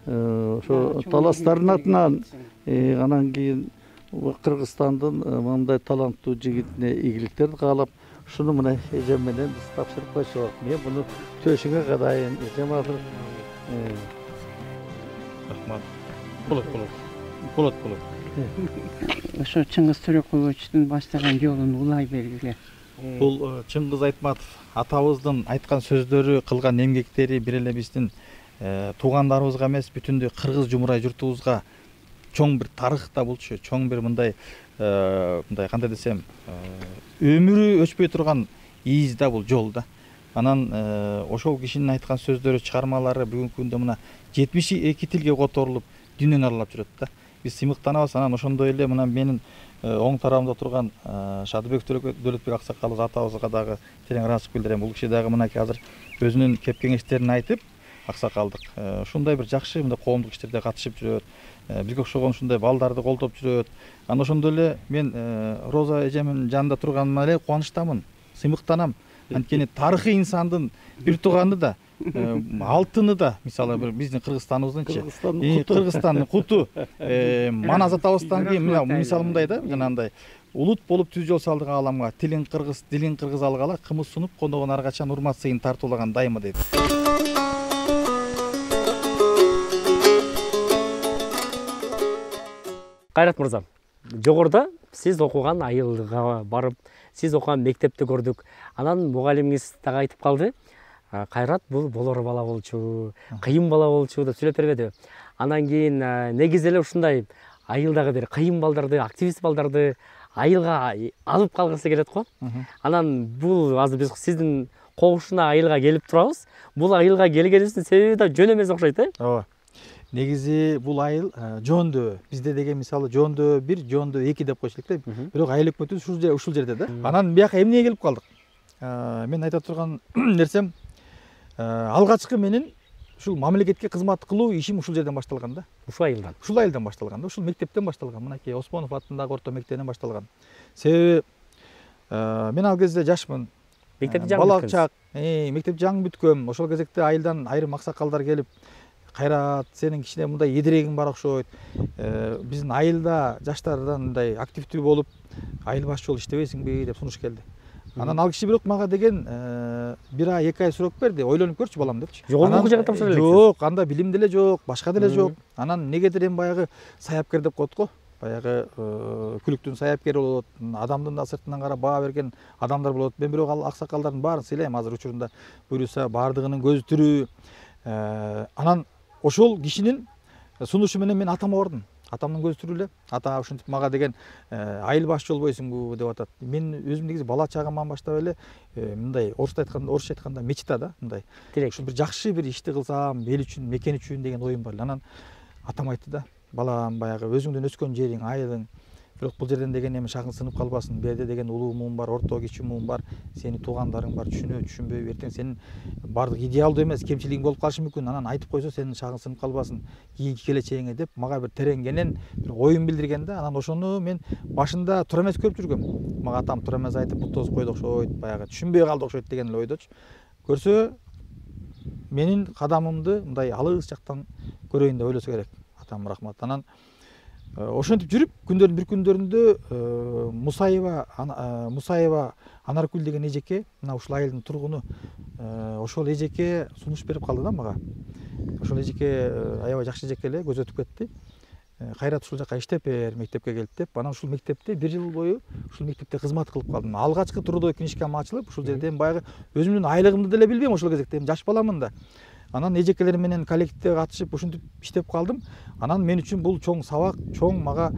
ошо таластардын атынан анан кийин Кыргызстандын мындай таланттуу жигитине ийгиликтерди каалап, ушуну мына эжем менен биз тапшырып койсок, мен буну төшүңө кадайын. Эжем азыр рахмат. Болот. Ошо Чыңгыз Торековичтин баштаган жолун улай бергиле. Бул Чыңгыз Айтматов атабыздын айткан сөздөрү, кылган эмгектери бир эле биздин туугандарыбызга эмес, бүтүндөй кыргыз жумурай журтубузга чоң бир тарыхта болчу, чоң бир мындай кандай десем, өмүрү өчпөй турган ийиз да бул жол да. Анан ошол кишинин айткан сөздөрү, чыгармалары бүгүнкү күндө мына 72 тилге которулуп, дүйнөнү аралап жүрөт да. Биз сыймыктанабыз. Анан ошондой эле мына менин оң тарабымда турган Шадыбек Дөлөтбек аксакалыбыз атабызга дагы терең ыраазычылык билдирем. Бул киши дагы мынакей азыр өзүнүн кеп кеңештерин айтып, аксакалдык ушундай бир жакшы мындай коомдук иштерде катышып жүрөт. Бизге окшогон ушундай балдарды колдоп жүрөт. Анан ошондой эле мен Роза эжемдин жанында турганыма эле кубанычтамын, сыймыктанам. Анткени тарыхый инсандын бир тууганы да, алтыны да, мисалы бир биздин Кыргызстаныбыздынчы, Кыргызстандын куту, Манас атабыздан кийин мисалы мындай да, жанагындай улут болуп түз жол салдык ааламга, тилин кыргыз алгала, кымыз сунуп кондогон ар качан урмат сыйын тартуулаган дайыма дейт. Кайрат мырза, жогоруда сиз окуган айылга барып, сиз окуган мектепти көрдүк. Анан мугалимиңиз дагы айтып калды. Кайрат бул болор бала болчу, кыйын бала болчу деп сүйлөп бербеди. Анан кийин негизи эле ушундай айылдагы бир кыйын балдарды, активист балдарды айылга алып калгысы келет го. Анан бул азыр биз сиздин когушуна айылга келип турабыз. Бул айылга келгенибиздин себеби да жөн эмес окшойт, Ооба. Негизи бул айыл жоондөө. Бизде деген мисалы жоондөө 1, жоондөө 2 деп койчу элек да. Бирок айыл өкмөтүбүз ушул жерде да. Анан бияка эмнеге келип калдык? Мен айта турган нерсем, алгачкы менин ушул мамлекетке кызмат кылуу ишим ушул жерден башталган да. Ушул айылдан. Ушул айылдан башталган да. Ушул мектептен башталган. Мынакей Осмонов атындагы орто мектептен башталган. Себеби мен ал кезде жашмын. Мектепти жаңы бала чак, мектепти жаңы бүткөм. Ошол кезекте айылдан айрым аксакалдар келип, Кайрат, сенин кичине мындай едирегиң бар окшойт. Биздин айылда жаштардан мындай активдүү болуп, айыл башчы болуп иштебейсиңби деп сунуш келди. Анан ал киши бирок мага деген 1 ай 2 ай срок берди. Ойлонуп көрчү балам депчи. Жогорку окуу жайга тапшыра элексиз? Жок, анда билим деле жок, башка деле жок. Анан негедир эми баягы саяпкер деп коет го. Баягы күлүктүн саяпкери болот, адамдын да сыртынан карап баа берген адамдар болот. Мен бирок ал аксакалдардын баарын сыйлайм азыр учурунда. Буюрса баардыгынын көзү тирүү. Анан ошол кишинин сунушу менен мен атама бардым. Атамдын көзү тирүү эле. Ата ушинтип мага деген айыл башчы болбойсуңбу деп атат. Мен өзүм негизи бала чагымдан баштап эле мындай орусча айтканда мечта да, мындай. Ушул бир жакшы бир ишти кылсам, эл үчүн, мекен үчүн деген оюм бар. Анан атам айтты да, балам баягы өзүңдүн өскөн жериң, айылың, бирок бул жерден деген эми шагын сынып калбасын. Берде деген улуу муун бар, орто кичи муун бар, сенин туугандарың бар, түшүнбөйбү, эртең сенин баардык идеалдуу эмес, кемчилигиң болуп калышы мүмкүн. Анан айтып койсо сенин шагың сынып калбасын кийинки келечегиңе деп мага бир тереңгенен бир оюн билдирген да. Анан ошону мен башында туура эмес көрүп жүргөм. Мага атам туура эмес айтып буттозуп койду окшойт, баягы түшүнбөй калды окшойт деген эле ойдочу. Көрсө менин кадамымды мындай алыс жактан көрөйүн деп ойлосо керек. Атам рахмат. Анан ошентип жүрүп күндөрдүн бир күндөрүндө Мусаева Анаркүл деген эжеке, мына ушул айылдын тургуну, ошол эжеке сунуш берип калды да мага. Ошол эжеке аябай жакшы эжеке эле, көзөтүп кетти. Кайрат ушул жака иштеп бер, мектепке келип деп. Анан ушул мектепте 1 жыл бою ушул мектепте кызмат кылып калдым. Алгачкы трудовой книжкам ачылып, ушул жерде баягы өзүмдүн айлыгымды деле билбейм ошол кезекте, жаш баламын да. Анан эжекелер менен коллективде катышып ушинтип иштеп калдым. Анан мен үчүн бул чоң сабак, чоң мага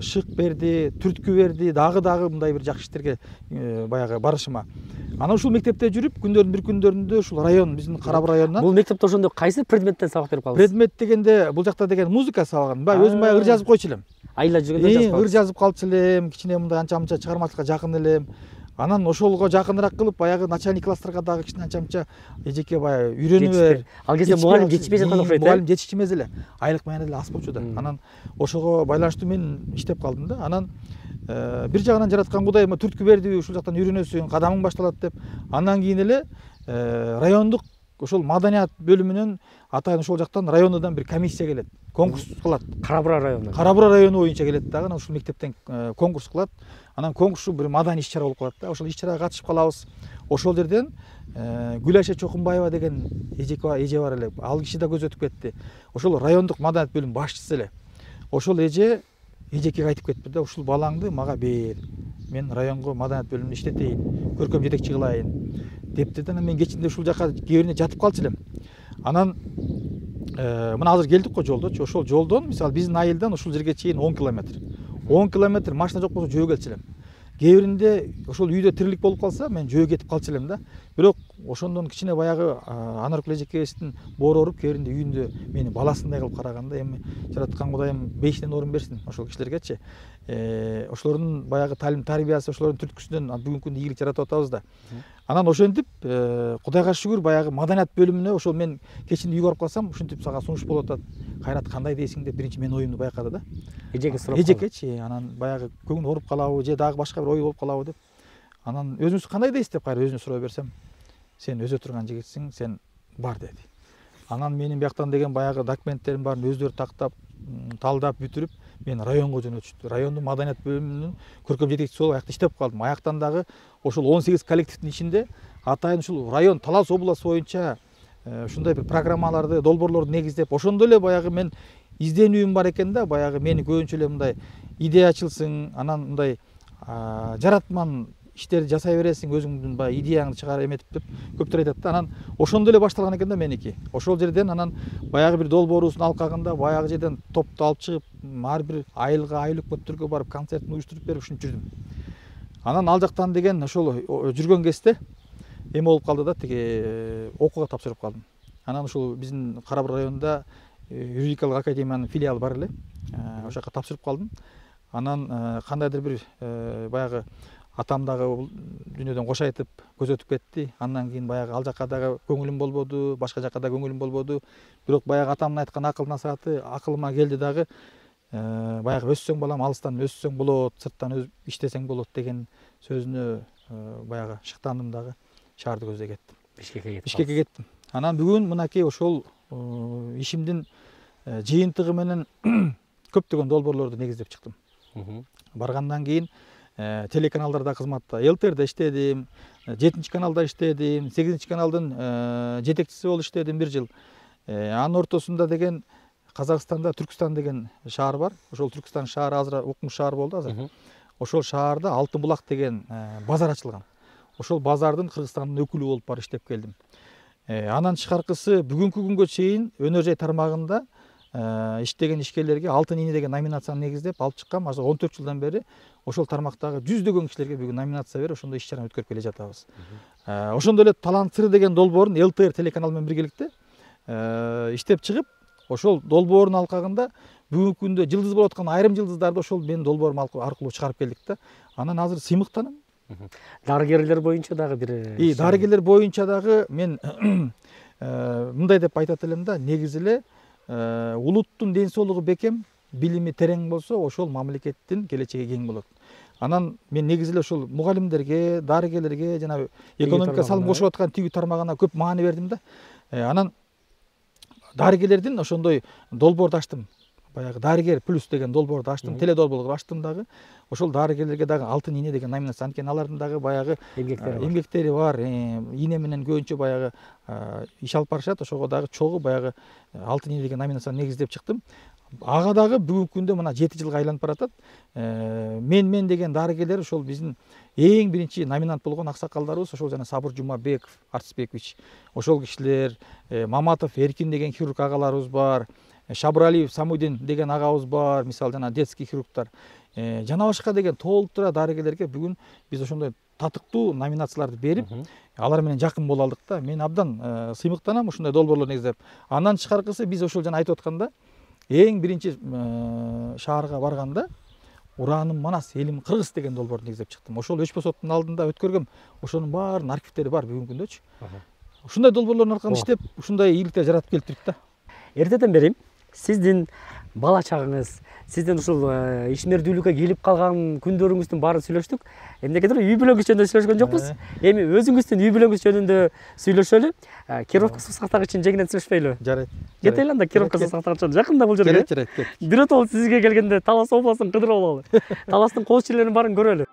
шык берди, түрткү берди, дагы мындай бир жакшы иштерге баягы барышыма. Анан ушул мектепте жүрүп, күндөрдүн бир күндөрүндө ушул район, биздин Карабыр районунан. Бул мектепте ошондо кайсы предметтен сабак берип калдыңыз? Предмет дегенде бул жакта деген музыка сабагын. Баягы өзүм баягы ыр жазып койчу элем. Айла жүргөндө жазып Ыр жазып калчу элем, кичине мындай анча-мынча чыгармачылыкка жакын элем. Анан ошолго жакыныраак кылып, баягы начальник класстарга дагы кичине анча-мынча эжеке баягы үйрөнүп бер. Ал кезде мугалим жетишпей жаткан окшойт. Мугалим жетишчү эмес эле. Айлык менен эле аз болчу да. Анан ошого байланыштуу мен иштеп калдым да. Анан бир жагынан жараткан Кудай түрткү берди, ушул жактан үйрөнөсүң, кадамың башталат деп. Андан кийин эле райондук ошол маданият бөлүмүнөн атайын ошол жактан районудан бир комиссия келет, конкурс кылат. Карабыр району. Карабыр району боюнча келет дагы, анан ушул мектептен конкурс кылат. Анан конкурс бир маданий иш-чара болуп калат да. Ошол иш-чарага катышып калабыз. Ошол жерден Гүлайша Чокунбаева деген эже бар эле. Ал киши да көз өтүп кетти. Ошол райондук маданият бөлүм башчысы эле. Ошол эжекеге айтып кетти да, ушул балаңды мага бер. Мен районго маданият бөлүмүндө иштетейин, көркөм жетекчи кылайын депти да. Мен кечинде ушул жака кээ бирине жатып калчу элем. Анан мына азыр келдик го жолдочу. Ошол жолдон мисалы биздин айылдан ушул жерге чейин 10 километр. 10 километр машина жок болсо жөө келчү элем. Кээ биринде ошол үйдө тирилик болуп калса, мен жөө кетип калчу элем да. Бирок ошондон кичине баягы Анаркүл эжекебиздин боору ооруп, кээ биринде үйүндө мени баласындай кылып караганда, эми жараткан Кудайым бейишинен орун берсин ошол кишилергечи. Ошолордун баягы талим тарбиясы, ошолордун түрткүсүнөн бүгүнкү күндө ийгилик жаратып атабыз да. Анан ошентип Кудайга шүгүр баягы маданият бөлүмүнө ошол мен кечинде үйгө барып калсам, ушинтип сага сунуш болуп атат. Кайрат кандай дейсиң деп биринчи мен оюмду байкады да. Эжеке сурап. Эжекечи, анан баягы көңүл ооруп калабы же дагы башка бир ой болуп калабы деп. Анан өзүңүз кандай дейсиз деп кайра өзүнө суроо берсем, сен өзө турган жигитсиң, сен бар деди. Анан менин бияктан деген баягы документтерим баарын өздөрү тактап, талдап бүтүрүп, мен районго жөнөтүштү. Райондун маданият бөлүмүнүн көркөм жетекчиси болуп аякта иштеп калдым. Аяктан дагы ошол 18 коллективдин ичинде атайын ушул район Талас областы боюнча ушундай бир программаларды, долбоорлорду негиздеп, ошондо эле баягы мен изденүүм бар экен да, баягы мени көбүнчө эле мындай идеячылсың, анан мындай жаратман иштерди жасай бересиң, өзүңдүн баягы идеяңды чыгара эметип деп көптөр айтат да. Анан ошондо эле башталган экен да меники. Ошол жерден анан баягы бир долбоорубуздун алкагында баягы жерден топту алып чыгып, ар бир айылга, айыл өкмөттөргө барып концертин уюштуруп берип ушинтип жүрдүм. Анан ал жактан деген ошол жүргөн кезде эме болуп калды да, тиги окууга тапшырып калдым. Анан ушул биздин Карабыр районунда юридикалык академиянын филиалы бар эле. Ошол жака тапшырып калдым. Анан кандайдыр бир баягы атам дагы дүйнөдөн кош айтып көз өтүп кетти. Андан кийин баягы ал жака дагы көңүлүм болбоду, башка жака да көңүлүм болбоду. Бирок баягы атамдын айткан акыл насааты акылыма келди дагы. Баягы өссөң балам, алыстан өссөң болот, сырттан иштесең болот деген сөзүнө баягы шыктандым дагы. Шаарды көздөй кеттим. Бишкекке кеттим. Анан бүгүн мынакей ошол ишимдин жыйынтыгы менен көптөгөн долбоорлорду негиздеп чыктым. Баргандан кийин телеканалдарда кызматта, ЛТРде иштедим, 7 каналда иштедим, 8 каналдын жетекчиси болуп иштедим 1 жыл. Анын ортосунда деген Казакстанда Түркстан деген шаар бар. Ошол Түркстан шаары азыр укмуш шаар болду азыр. Ошол шаарда Алтын булак деген базар ачылган. Ошол базардын Кыргызстандын өкүлү болуп барып иштеп келдим. Анан тышкаркысы бүгүнкү күнгө чейин өнөр жай тармагында иштеген ишкерлерге Алтын ийне деген номинацияны негиздеп алып чыккам. Азыр 14 жылдан бери ошол тармактагы жүздөгөн кишилерге бүгүн номинация берип, ошондой иш-чараны өткөрүп келе жатабыз. Ошондой эле Талант сыры деген долбоорун ЛТР телеканалы менен биргеликте иштеп чыгып, ошол долбоордун алкагында бүгүнкү күндө жылдыз болуп аткан айрым жылдыздарды ошол менин долбоорум аркылуу чыгарып келдик да. Анан азыр сыймыктанам. Дарыгерлер боюнча дагы бир дарыгерлер боюнча дагы мен мындай деп айтат элем да, негизи эле улуттун ден соолугу бекем, билими терең болсо, ошол мамлекеттин келечеги кең болот. Анан мен негизи эле ошол мугалимдерге, дарыгерлерге жана экономика салым кошуп аткан тигүү тармагына көп маани бердим да. Анан дарыгерлердин ошондой долбоорду ачтым. Баягы дарыгер плюс деген долбоорду ачтым, теле долбоорду ачтым дагы. Ошол дарыгерлерге дагы Алтын ийне деген номинация, анткени алардын дагы баягы эмгектери бар. Ийне менен көбүнчө баягы иш алып барышат. Ошого дагы чогуу баягы Алтын ийне деген номинацияны негиздеп чыктым. ага дагы бүгүнкү күндө мына 7 жылга айланып баратат. Мен деген дарыгерлер ошол биздин эң биринчи номинант болгон аксакалдарыбыз ошол жана Сабыр Жумабеков, Артисбекович, ошол кишилер, Маматов Эркин деген хирург агаларыбыз бар, Шабыралиев Самудин деген агабыз бар, мисалы жана детский хирургтар, жана башка деген толтура дарыгерлерге бүгүн биз ошондой татыктуу номинацияларды берип, алар менен жакын боло алдык да. Мен абдан сыймыктанам ушундай долбоорлор негиздеп. Андан тышкаркысы биз ошол жана айтып атканда эң биринчи шаарга барганда Ураным Манас, элим Кыргыз деген долбоорду негиздеп чыктым. Ошол Өчпө соттун алдында өткөргөм. Ошонун баарынын архивдери бар бүгүнкү күндөчү. Ушундай долбоорлордун аркасында иштеп, ушундай ийгиликтер жаратып келип турат да. Эртеден бери сиздин бала чагыңыз, сиздин ушул ишмердүүлүккө келип калган күндөрүңүздүн баарын сүйлөштүк. Эмнегедир үй бүлөңүз жөнүндө сүйлөшкөн жокпуз. Эми өзүңүздүн үй бүлөңүз жөнүндө сүйлөшөлү. Кировка суу сактагычын жеңинен сүйлөшпөйлү. Жарайт. Кетели анда Кировка суу сактагычын жакында бул жерге. Жарайт. Биротолу сизге келгенде Талас областын кыдырып алалы. Таластын коочулеринин баарын көрөлү.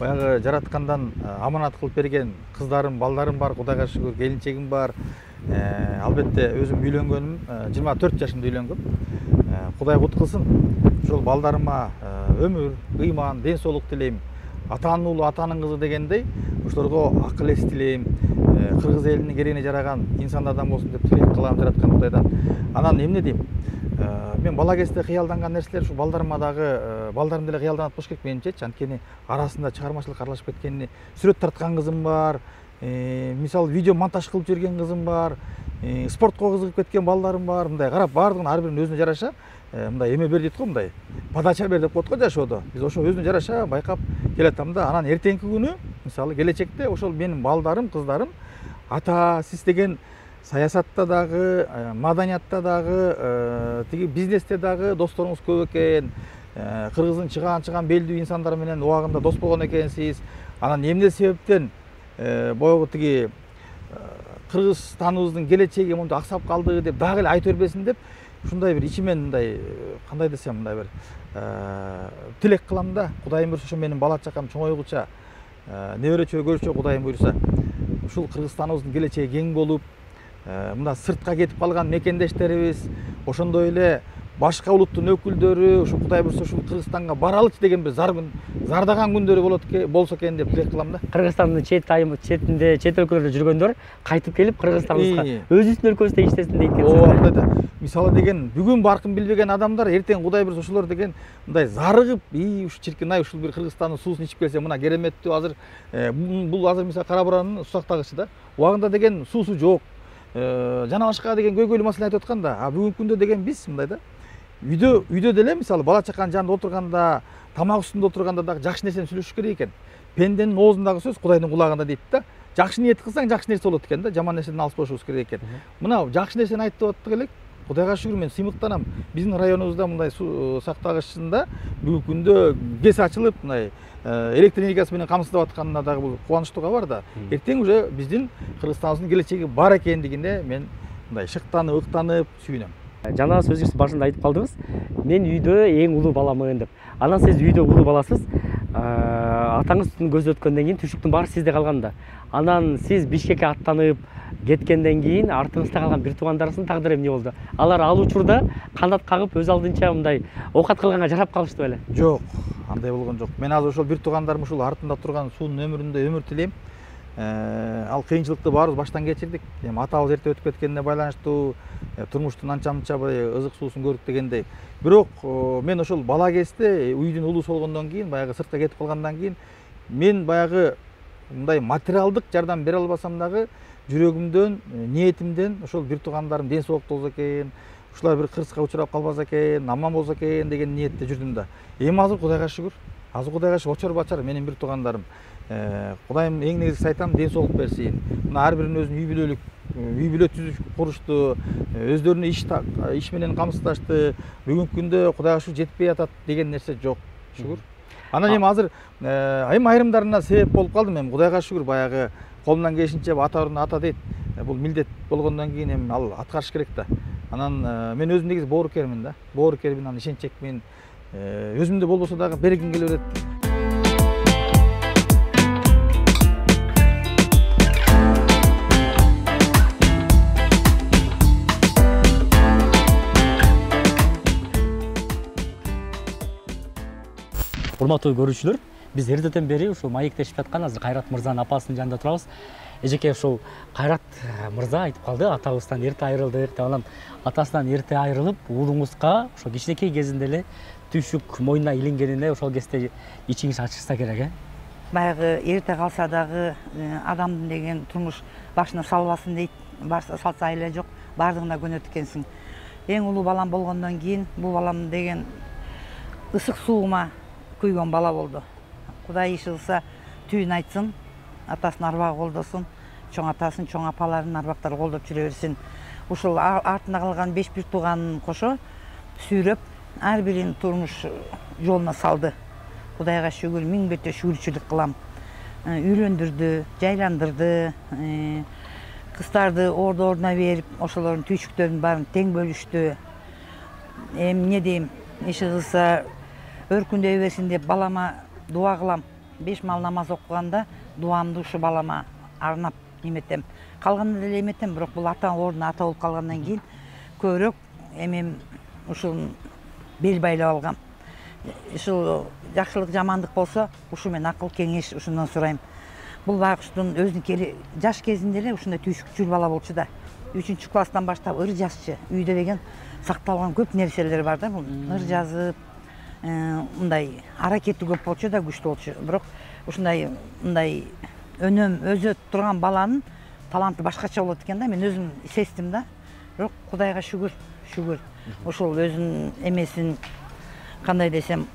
Баягы жараткандан аманат кылып берген кыздарым, балдарым бар, Кудайга шүгүр, келинчегим бар. Албетте өзүм үйлөнгөнүм, 24 жашымда үйлөнгөм. Кудай кут кылсын. Ошол балдарыма өмүр, ыйман, ден соолук тилейм. Атанын уулу атанын кызы дегендей, ошолорго акыл эс тилейм. Кыргыз элинин керегине жараган инсандардан болсун деп тилек кылам жараткан Кудайдан. Анан эмне дейм? Мен бала кезде кыялданган нерселер ушу балдарыма дагы, балдарым деле кыялданат болуш керек менимчечи. Анткени арасында чыгармачылык аралашып кеткени, сүрөт тарткан кызым бар, мисалы видео монтаж кылып жүрген кызым бар, спортко кызыгып кеткен балдарым бар. Мындай карап баардыгын ар биринин өзүнө жараша мындай эме бер дейт го, мындай подача бер деп коет го жашоодо. Биз ошо өзүнө жараша байкап келатам да. Анан эртеңки күнү мисалы келечекте ошол менин балдарым, кыздарым ата сиз деген саясатта дагы, маданиятта дагы, тиги бизнесте дагы досторуңуз көп экен. Кыргыздын чыгаан белдүү инсандар менен убагында дос болгон экенсиз. Анан эмне себептен боягы тиги Кыргызстаныбыздын келечеги монтип аксап калды деп дагы эле айта бербесин деп ушундай бир ичимен мындай кандай десем мындай бир тилек кылам да. Кудайым буйрса ошо менин бала чакам чоңойгуча, неберечө көрүүчү Кудайым буйрса ушул Кыргызстаныбыздын келечеги кең болуп, мында сыртка кетип калган мекендештерибиз, ошондой эле башка улуттун өкүлдөрү ушу Кудай буйрса ушул Кыргызстанга баралычы деген бир зардаган күндөрү болсо экен деп тилек кылам да. Кыргызстандын четинде, чет өлкөлөрдө жүргөндөр кайтып келип Кыргызстаныбызга өзүбүздүн өлкөбүздө иштесин дейт экенсиз. Мисалы деген бүгүн баркын билбеген адамдар эртең Кудай буйрса ошолор деген мындай зарыгып, ушу чиркин ай ушул бир Кыргызстандын суусун ичип келсе мына кереметтүү азыр бул азыр мисалы Кара Буранын суу сактагычы да. Убагында деген суусу жок. Жана башка деген көйгөйлүү маселе айтып аткан да. Бүгүнкү күндө деген биз мындай да. Үйдө деле мисалы бала чаканын жанында отурганда, тамак үстүндө отурганда дагы жакшы нерсени сүйлөшүш керек экен. Пенденин оозундагы сөз Кудайдын кулагында дейт да. Жакшы ниет кылсаң жакшы нерсе болот экен да. Жаман нерседен алыс болушубуз керек экен. Мына жакшы нерсени айтып аттык элек. Кудайга шүгүр, мен сыймыктанам. Биздин районубузда мындай суу сактагычында бүгүнкү күндө ГЭС ачылып, мындай электр энергиясы менен камсыздап атканына дагы бул кубанычтуу кабар да. Эртең уже биздин Кыргызстаныбыздын келечеги бар экендигине мен мындай шыктанып, ыктанып сүйүнөм. Жана сөзүңүз башында айтып калдыңыз, мен үйдө эң улуу баламын деп. Анан сиз үйдө улуу баласыз, атаңыздын көзү өткөндөн кийин түшүктүн баары сизде калган да. Анан сиз Бишкекке аттанып кеткенден кийин артыңызда калган бир туугандарыңыздын тагдыры эмне болду? Алар ал учурда канат кагып өз алдынча мындай оокат кылганга жарап калышты беле? Жок, андай болгон жок. Мен азыр ошол бир туугандарым ушул артында турган суунун өмүрүндө өмүр тилейм. Ал кыйынчылыкты баарыбыз баштан кечирдик. Эми атабыз эрте өтүп кеткенине байланыштуу турмуштун анча-мынча ызык суусун көрдүк дегендей. Бирок мен ошол бала кезде үйдүн улуусу болгондон кийин, баягы сыртка кетип калгандан кийин мен баягы мындай материалдык жардам бере албасам дагы жүрөгүмдөн, ниетимден ошол бир туугандарым ден соолукта болсо экен, ушулар бир кырсыкка учурап калбаса экен, аман болсо экен деген ниетте жүрдүм да. Эми азыр Кудайга шүгүр. Азыр Кудайга шүгүр очор бачар менин бир туугандарым. Кудайым эң негизгиси айтам, ден соолук берсин. Мына ар биринин өзүнүн үй бүлө түзүп курушту, өздөрүнүн иш менен камсыздашты. Бүгүнкү күндө Кудайга шүгүр жетпей атат деген нерсе жок. Шүгүр. Анан эми азыр эми айрымдарына себеп болуп калдым. Эми Кудайга шүгүр баягы колумдан келишинче ата ордуна ата дейт. Бул милдет болгондон кийин эми ал аткарыш керек да. Анан мен өзүм негизи боорукермин да. Боорукермин, анан ишенчекмин. Өзүмдө болбосо дагы бергим келе берет. Урматтуу көрүүчүлөр, биз эртеден бери ушул маектешип жаткан азыр Кайрат мырзанын апасынын жанында турабыз. Эжеке, ушул Кайрат мырза айтып калды, атабыздан эрте айрылдык деп. Анан атасынан эрте айрылып, уулуңузга ошо кичинекей кезинде эле түйшүк мойнуна илингенине ошол кезде ичиңиз ачышса керек, Баягы эрте калса дагы адамдын деген турмуш башына салбасын дейт. Салса эле жок, баардыгына көнөт экенсиң. Эң улуу балам болгондон кийин бул балам деген ысык суума күйгөн бала болду. Кудай иш кылса түйүн айтсын, атасынын арбагы колдосун, чоң атасын, чоң апаларын арбактары колдоп жүрө берсин. Ушул артында калган 5 бир тууганын кошо сүйрөп, ар бирин турмуш жолуна салды. Кудайга шүгүр, миң бете шүгүрчүлүк кылам. Үйлөндүрдү, жайландырды, кыздарды ордуна берип, ошолордун түйшүктөрүнүн баарын тең бөлүштү. Эми эмне дейм, иши кылса өркүндөй берсин деп балама дуа кылам. 5 мал намаз окуганда дуамды ушу балама арнап эметем. Калганда деле эметем, бирок бул ата ордуна ата болуп калгандан кийин көбүрөөк эмем ушул бел байлап алгам. Ушул жакшылык жамандык болсо, ушу мен акыл кеңеш ушундан сурайм. Бул байкуштун өзүнүн жаш кезинде эле ушундай түйшүкчүл бала болчу да. 3-класстан баштап ыр жазчы. Үйдө деген сакталган көп нерселер бар да, бул ыр жазып, мындай аракети көп болчу да, күчтүү болчу. Бирок ушундай мындай өнөм өзө турган баланын таланты башкача болот экен да. Мен өзүм сездим да. Бирок Кудайга шүгүр, шүгүр. Ошол өзүнүн эмесин, кандай десем,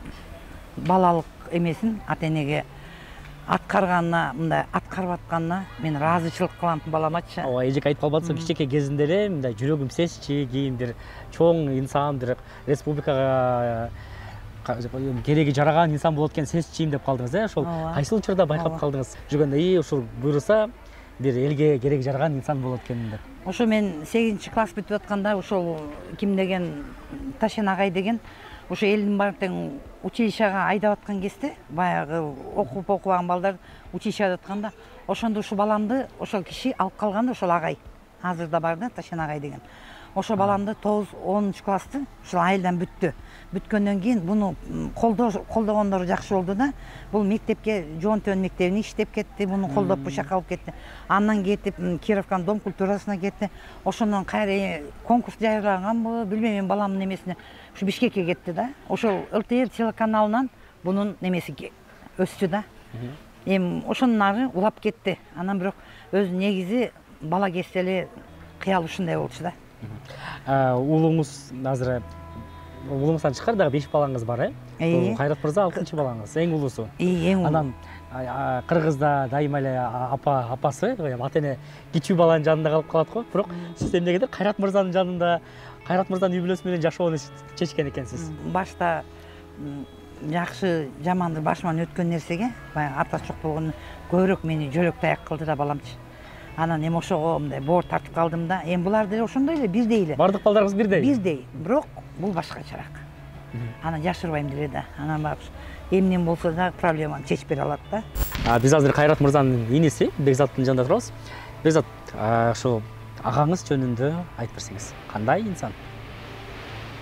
балалык эмесин ата-энеге аткарганына, мындай аткарып атканына мен ыраазычылык кылам баламачы. Ооба, эжеке айтып калбадысыз, кичинекей кезинде эле мындай жүрөгүм сезчи, кийин бир чоң инсан, бир республикага кереги жараган инсан болот экен сезчим деп калдыңыз, ошол кайсы учурда байкап калдыңыз? Жүргөндө ушул буйруса бир элге кереги жараган инсан болот экен деп. Ошо мен 8-класс бүтүп атканда ошол ким деген Ташен агай деген ошо элдин баары тең училищага айдап аткан кезде, баягы окуп окубаган балдар училищеге атканда, ошондо ушу баламды ошол киши алып калган да, ошол агай. Азыр да бар да, Ташен агай деген. Ошо баламды 9-10 классты ушул айылдан бүттү. Бүткөндөн кийин буну колдогондору жакшы болду да. Бул мектепке, Жоон Төбөн мектебине иштеп кетти, буну колдоп бушакка алып кетти. Андан кетип Кировканын дом культурасына кетти. Ошондон кайра конкурс жайырлаганбы, билбейм, мен баламдын эмесине ушу Бишкекке кетти да. Ошол ЛТР телеканалынан бунун немеси өстү да. Эми ошондон ары улап кетти. Анан бирок өзү негизи бала кезде эле кыял ушундай болчу да. Уулуңуз азыр уулуңуздан тышкары дагы 5 балаңыз бар, Кайрат мырза 6-чы балаңыз, эң улуусу. Эң улуу. Анан Кыргызда дайыма эле апасы, ата-эне кичүү баланын жанында калып калат го. Бирок сиз эмнегедир Кайрат мырзанын жанында, Кайрат мырзанын үй бүлөсү менен жашоону чечкен экенсиз. Башта жакшы жаманды башыман өткөн нерсеге, баягы атасы жок болгону көбүрөөк мени жөлөк таяк кылды да баламчы. Анан эми ошого мындай боор тартып калдым да. Эми булар деле ошондой эле, бирдей эле. Бардык балдарыңыз бирдей? Бирдей, бирок бул башкачараак. Анан жашырбайм деле да. Анан баягы эмнем болсо да проблеманы чечип бере алат да. Биз азыр Кайрат мырзанын иниси Бекзаттын жанында турабыз. Бекзат, ошо агаңыз жөнүндө айтып берсеңиз. Кандай инсан?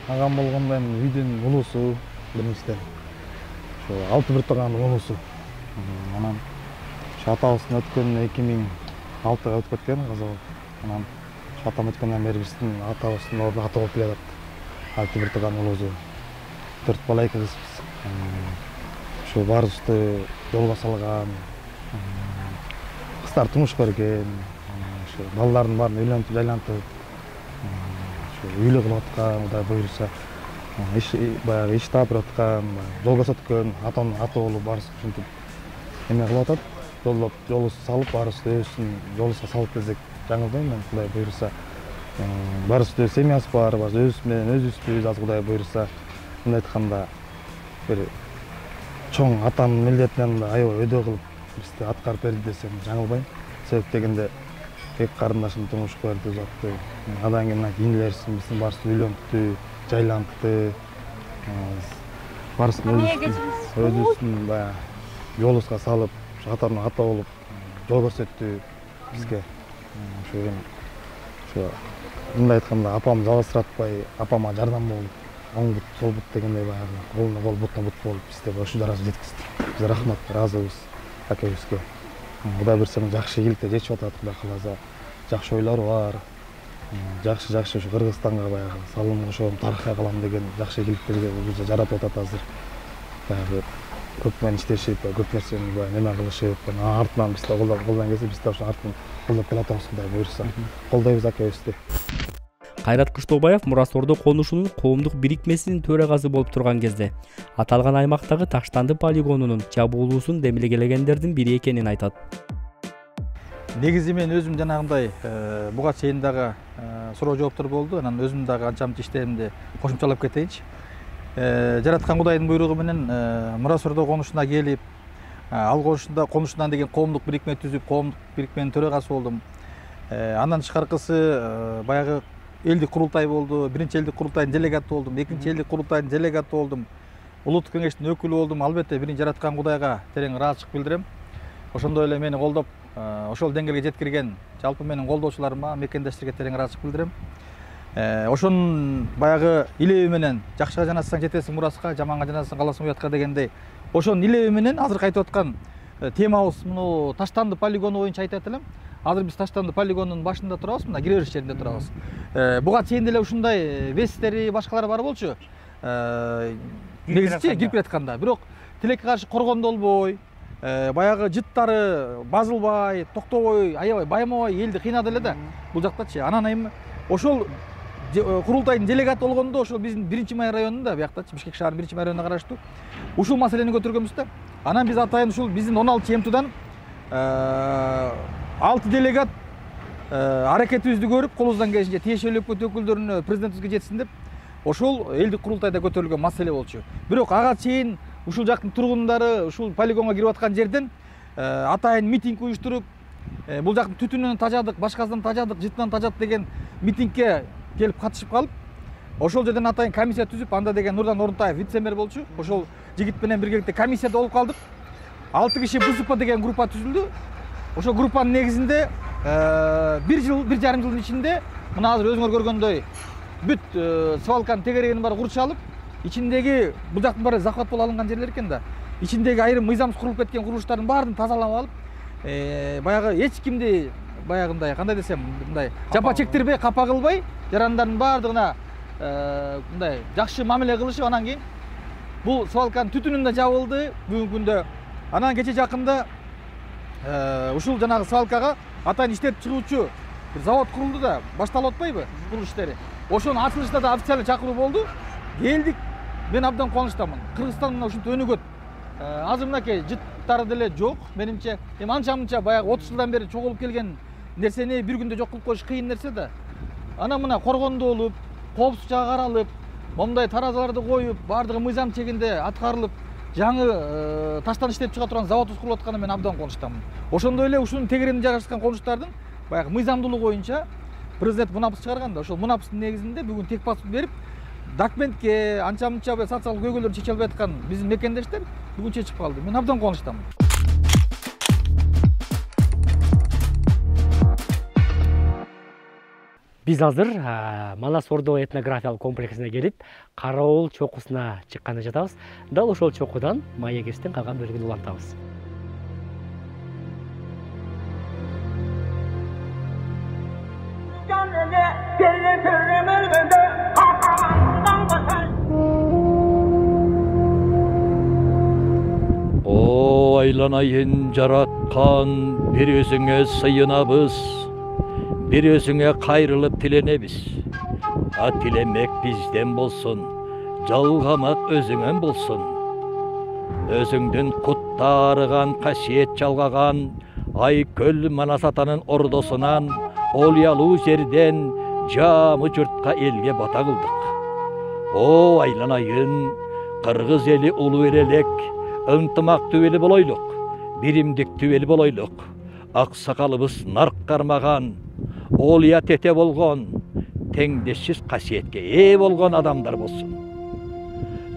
Агам болгондо эми үйдүн улуусу, биринчиден. Ошо 6 бир тууганын улуусу. Анан ошо атабыздын өткөн 2006-га өтүп кеткен кызы. Анан атам өткөндөн бери биздин атабыздын ордуна ата болуп келатат. 6 бир тууганын улуусу. 4 бала 2 кызбыз. Ошо баарыбызды жолго салган, кыздары турмушка берген, ошо балдардын баарын үйлөнтүп, жайлантып, ошо үйлүү кылып аткан, Кудай буйруса, баягы иш таап берип аткан, жол көрсөткөн, атанын аты болуп баарыбыз ушинтип эме кылып атат. Жолу салып, баарыбыз өзүбүздүн жолубузга салып келсек жаңылбайм мен, Кудай буйруса. Баарыбыздын семьябыз бар, өзүбүз менен өзүбүзбүз, азыр Кудай буйруса. Мындай айтканда, бир чоң атанын милдетинен аябай өйдө кылып бизди аткарып берди десем жаңылбайм. Себеп дегенде эки карындашым турмушка берди жатты. Андан кийин кийинлерибиздин биздин баарыбызды үйлөнттү, жайлантты. Баарыбыздын өзүбүздүн баягы жолубузга салып, атанын ата болуп жол көрсөттү бизге. Ошо мындай айтканда апам жалгызсыратпай, апама жардам болуп, оң бут, сол бут дегендей баягы колуна кол, бутуна бут болуп бизди ушул даражага жеткизди. Биз рахмат, ыраазыбыз акебизге. Кудай буйруса жакшы ийгиликте жечип атат, Кудай кааласа. Жакшы ойлору бар. Жакшы ушу Кыргызстанга баягы салым кошом, тарыхка калам деген жакшы ийгиликтерге бизге жаратып атат азыр. Баягы көп менен иштешип, көп нерсени баягы неме кылышып, артынан бизди колдон келсе, биз да ошо артынан колдоп келатабыз, Кудай буйруса. Колдойбуз акебизди. Кайрат Кыштообаев Мурас Ордо конушунун коомдук бирикмесинин төрагасы болуп турган кезде аталган аймактагы Таштанды полигонунун жабылуусун демилгелегендердин бири экенин айтат. Негизи мен өзүм жанагындай буга чейин дагы суроо жооптор болду. Анан өзүм дагы анча-мынча иштеримди кошумчалап кетейинчи. Жараткан Кудайдын буйругу менен Мурас Ордо конушуна келип, ал конушунан деген коомдук бирикме түзүп, коомдук бирикменин төрагасы болдум. Андан тышкаркысы баягы элдик курултай болду. Биринчи элдик курултайдын делегаты болдум, экинчи элдик курултайдын делегаты болдум. Улуттук кеңештин өкүлү болдум. Албетте биринчи жараткан Кудайга терең ыраазычылык билдирем. Ошондой эле мени колдоп, ошол деңгээлге жеткирген жалпы менин колдоочуларыма, мекендештерге терең ыраазычылык билдирем. Ошонун баягы илеби менен жакшыга жанасаң жетесиң Мураска, жаманга жанасаң каласың уятка дегендей, ошонун илеби менен азыр айтып аткан темабыз муну Таштанды полигону боюнча айтат элем. Азыр биз Таштанды полигонунун башында турабыз, мына кире бериш жеринде турабыз. Буга чейин деле ушундай вестери, башкалары бар болчу. Негизичи кирип жатканда, бирок тилекке каршы коргондо болбой, баягы жыттары базылбай, токтобой, аябай баймабай элди кыйнады эле да бул жактачы. Анан эми ошол курултайдын делегаты болгондо ошол биздин 1-Май районунда, бияктачы Бишкек шаарынын 1-Май районуна караштуу ушул маселени көтөргөнбүз да. Анан биз атайын ушул биздин 16 МТдан 6 делегат аракетибизди көрүп, колубуздан келишинче тиешелүү өкмөт өкүлдөрүнө, президентибизге жетсин деп ошол элдик курултайда көтөрүлгөн маселе болчу. Бирок ага чейин ушул жактын тургундары ушул полигонго кирип аткан жерден атайын митинг уюштуруп, бул жактын түтүнүнөн тажадык, башкасынан тажадык, жытынан тажат деген митингге келип катышып калып, ошол жерден атайын комиссия түзүп, анда деген Нурдан Орунтаев вице-мэр болчу. Ошол жигит менен биргеликте комиссияда болуп калдык. 6 киши БСП деген группа түзүлдү. Ошол группанын негизинде 1 жарым жылдын ичинде мына азыр өзүңөр көргөндөй бүт свалканын тегерегинин баары курчалып, ичиндеги бул жактын баары захват болуп алынган жерлер экен да. Ичиндеги айрым мыйзамсыз курулуп кеткен курулуштардын баарын тазалап алып, баягы эч кимди баягындай кандай десем, мындай жапа чектирбей, капа кылбай, жарандардын баардыгына мындай жакшы мамиле кылышып, анан кийин бул свалканын түтүнүн да жабылды бүгүнкү күндө. Анан кече жакында ушул жанагы свалкага атайын иштеп чыгуучу бир завод курулду да, башталып атпайбы курулуш иштери. Ошонун ачылышында да официалдуу чакыруу болду. Келдик. Мен абдан кубанычтамын. Кыргызстан мына ушинтип өнүгөт. Азыр мынакей жыттары деле жок, менимче. Эми анча-мынча баягы 30 жылдан бери чогулуп келген нерсени бир күндө жок кылып коюш кыйын нерсе да. Анан мына коргондо болуп, коопсуз жага каралып, момундай таразаларды коюп, баардыгы мыйзам чегинде аткарылып, жаңы таштан иштеп чыга турган заводубуз курулуп атканына мен абдан кубанычтамын. Ошондой эле ушунун тегерегинде жайгашкан конуштардын баягы мыйзамдуулугу боюнча президент мунапыс чыгарганда, ошол мунапыстын негизинде бүгүн тек паспорт берип, документке анча-мынча социалдык көйгөйлөрдү чече албай аткан биздин мекендештер бүгүн чечип калды. Мен абдан кубанычтамын. Биз азыр Манас Ордо этнографиялык комплексине келип, Караоол чокусуна чыкканда жатабыз. Дал ошол чокудан маегибиздин калган бөлүгүн улантабыз. айланайын жараткан бир өзүңө сыйынабыз, бир өзүңө кайрылып тиленебиз. Тилемек бизден болсун, жалгамак өзүңөн болсун. Өзүңдүн куттарыган касиет жалгаган Айкөл Манас атанын ордосунан олуялуу жерден жамы журтка элге бата кылдык. О айланайын, кыргыз эли улуу элек, ынтымактуу эли болойлук, биримдиктүү эли болойлук. Аксакалыбыз нарк кармаган, олуя тете болгон, теңдешсиз касиетке ээ болгон адамдар болсун.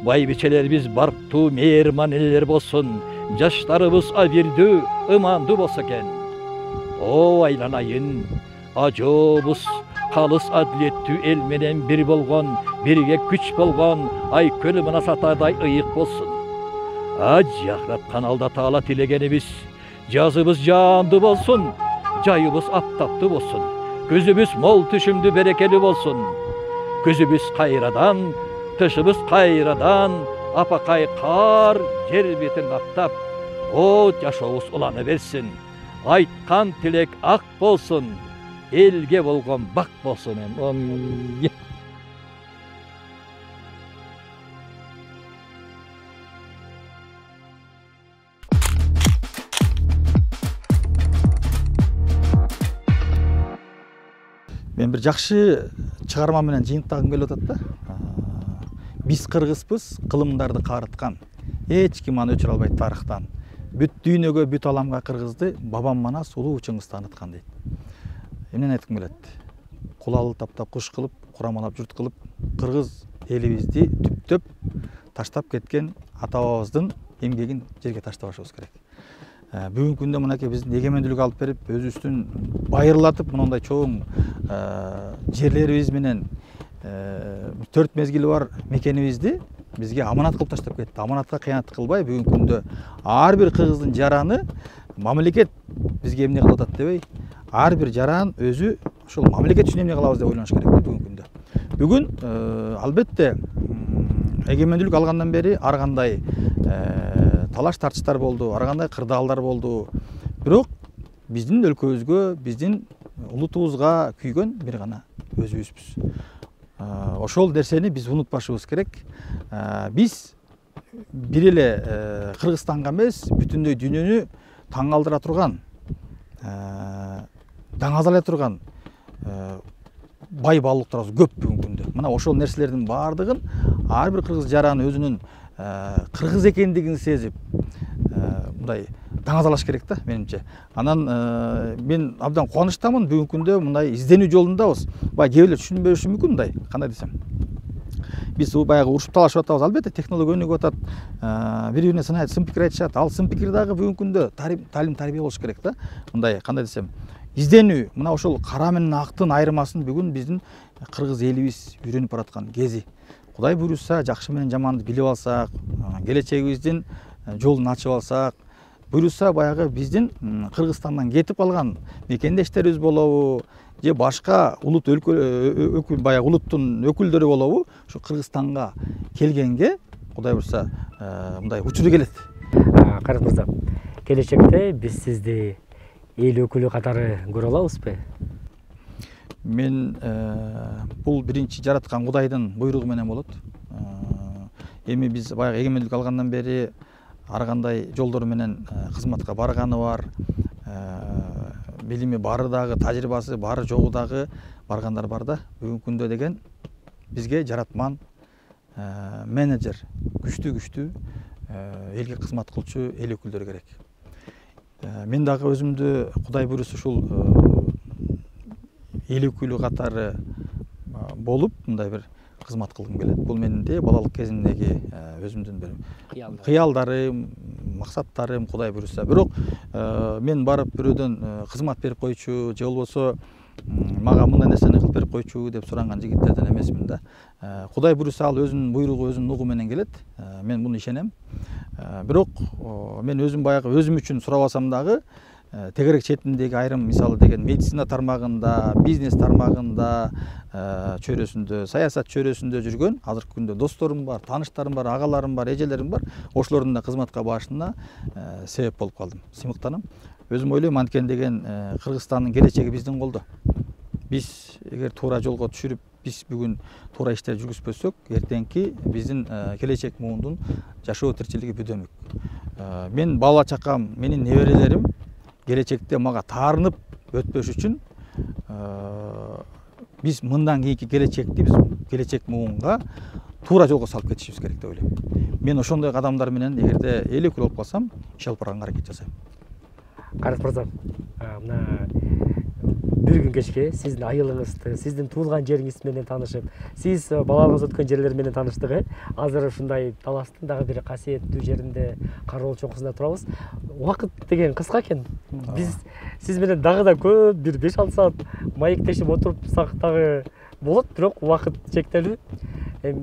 Байбичелерибиз барктуу, мээрман элелер болсун, жаштарыбыз абирдүү, ымандуу болсо экен. О айланайын, ажообуз калыс адилеттүү эл менен бир болгон, бирге күч болгон Айкөл Манас атадай ыйык болсун. Жакыраткан Алла Таала тилегенибиз, жазыбыз жаандуу болсун, жайыбыз аптаптуу болсун. Көзүбүз мол түшүмдүү берекелүү болсун. Көзүбүз кайрадан, тышыбыз кайрадан, апакай кар жер бетин каптап, о жашообуз улана берсин. Айткан тилек ак болсун, элге болгон бак болсун. Мен бир жакшы чыгарма менен жыйынтагым келип атат да. Биз кыргызбыз, кылымдарды каарыткан. Эч ким аны өчүрө албайт тарыхтан. Бүт дүйнөгө, бүт аламга кыргызды бабам Манас улуу Чыңгыз тааныткан дейт. Эмнени айткым келет? Кулалы таптап куш кылып, курамалап журт кылып, кыргыз элибизди түптөп таштап кеткен ата бабабыздын эмгегин жерге таштабашыбыз керек. Бүгүнкү күндө мынакей биздин эгемендүүлүк алып берип, өзүбүздүн байырлатып, мындай чоң жерлерибиз менен 4 мезгили бар мекенибизди бизге аманат кылып таштап кетти. Аманатка кыянат кылбай, бүгүнкү күндө ар бир кыргыздын жараны мамлекет бизге эмне кылып атат дебей, ар бир жаран өзү ошол мамлекет үчүн эмне кылабыз деп ойлоныш керек бүгүнкү күндө. Бүгүн албетте эгемендүүлүк алгандан бери ар кандай талаш тартыштар болду, ар кандай кырдаалдар болду. Бирок биздин өлкөбүзгө, биздин улутубузга күйгөн бир гана өзүбүзбүз. Ошол нерсени биз унутпашыбыз керек. Биз бир эле Кыргызстанга эмес, бүтүндөй дүйнөнү таң калтыра турган, даңазалай турган бай баалуулуктарыбыз көп бүгүнкү күндө. Мына ошол нерселердин баардыгын ар бир кыргыз жараны өзүнүн кыргыз экендигин сезип, мындай даңазалаш керек да, менимче. Анан мен абдан кубанычтамын, бүгүнкү күндө мындай изденүү жолундабыз. Бай кээ бирлер түшүнбөшү мүмкүн мындай, кандай десем. Биз баягы урушуп талашып атабыз, албетте технология өнүгүп атат, бири-бирине сын пикир айтышат. Ал сын пикир дагы бүгүнкү күндө талим тарбия болуш керек да. Мындай, кандай десем, изденүү, мына ошол кара менен актын айырмасын бүгүн биздин кыргыз элибиз үйрөнүп бараткан кези. Кудай буйруса, жакшы менен жаманды билип алсак, келечегибиздин жолун ачып алсак, буйруса баягы биздин Кыргызстандан кетип калган мекендештерибиз болобу, же башка улут баягы улуттун өкүлдөрү болобу, ушу Кыргызстанга келгенге Кудай буйруса мындай учуру келет. Карат мырза, келечекте биз сизди эл өкүлү катары көрө алабызбы? Мен бул биринчи жараткан Кудайдын буйругу менен болот. Эми биз баягы эгемендүүлүк алгандан бери ар кандай жолдор менен кызматка барганы бар, билими бары дагы, тажрыйбасы бары жогу дагы баргандар бар да. Бүгүнкү күндө деген бизге жаратман менеджер, күчтүү элге кызмат кылчу эл өкүлдөрү керек. Мен дагы өзүмдү Кудай буйруса ушул эл өкүлү катары болуп, мындай бир кызмат кылгым келет. Бул менин де балалык кезимдеги өзүмдүн бир кыялдарым, максаттарым, Кудай буйруса. Бирок мен барып бирөөдөн кызмат берип койчу, же болбосо мага мындай нерсени кылып берип койчу деп суранган жигиттерден эмесмин да. Кудай буйруса ал өзүнүн буйругу, өзүнүн нугу менен келет. Мен муну ишенем. Бирок мен өзүм баягы өзүм үчүн сурабасам дагы тегерек четиндеги айрым мисалы деген медицина тармагында, бизнес тармагында, чөйрөсүндө, саясат чөйрөсүндө жүргөн азыркы күндө досторум бар, тааныштарым бар, агаларым бар, эжелерим бар. Ошолордун да кызматка барышына себеп болуп калдым. Сыймыктанам. Өзүм ойлойм, анткени деген Кыргызстандын келечеги биздин колдо. Биз эгер туура жолго түшүрүп, биз бүгүн туура иштер жүргүзбөсөк, эртеңки биздин келечек муундун жашоо тиричилиги бүдөмүк. Мен бала чакам, менин неберелерим келечекте мага таарынып өтпөш үчүн биз мындан кийинки келечекти биз келечек муунга туура жолго салып кетишибиз керек деп ойлойм. Мен ошондой кадамдар менен эгерде эл өкүл болуп калсам, иш алып барганга аракет жасайм. Карат мырза, мына бир күн кечке сиздин айылыңызды, сиздин туулган жериңиз менен таанышып, сиз балалыгыңыз өткөн жерлер менен тааныштык. Азыр ушундай Таластын дагы бир касиеттүү жеринде Кароол чоңкусунда турабыз. Убакыт деген кыска экен. Биз сиз менен дагы да көп бир 5-6 саат маектешип отурсак дагы болот, бирок убакыт чектелүү.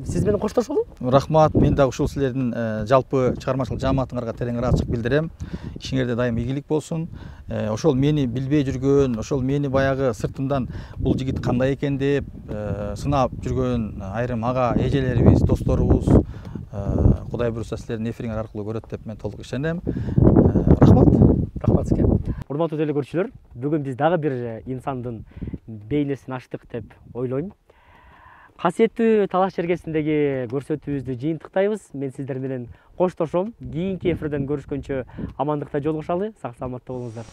Сиз менен коштошолу. Рахмат. Мен дагы ушул силердин жалпы чыгармачылык жааматыңарга терең ыраазычылык билдирем. Ишиңерде дайым ийгилик болсун. Ошол мени билбей жүргөн, ошол мени баягы сыртымдан бул жигит кандай экен деп сынап жүргөн айрым ага эжелерибиз, досторубуз Кудай буюрса силердин эфириңер аркылуу көрөт деп мен толук ишенем. Рахмат. Рахмат сизге. Урматтуу телекөрүүчүлөр, бүгүн биз дагы бир инсандын бейнесин ачтык деп ойлойм. Касиеттүү Талаш жергесиндеги көрсөтүүбүздү жыйынтыктайбыз. Мен сиздер менен коштошом. Кийинки эфирден көрүшкөнчө амандыкта жолугушалы. Сак саламатта болуңуздар.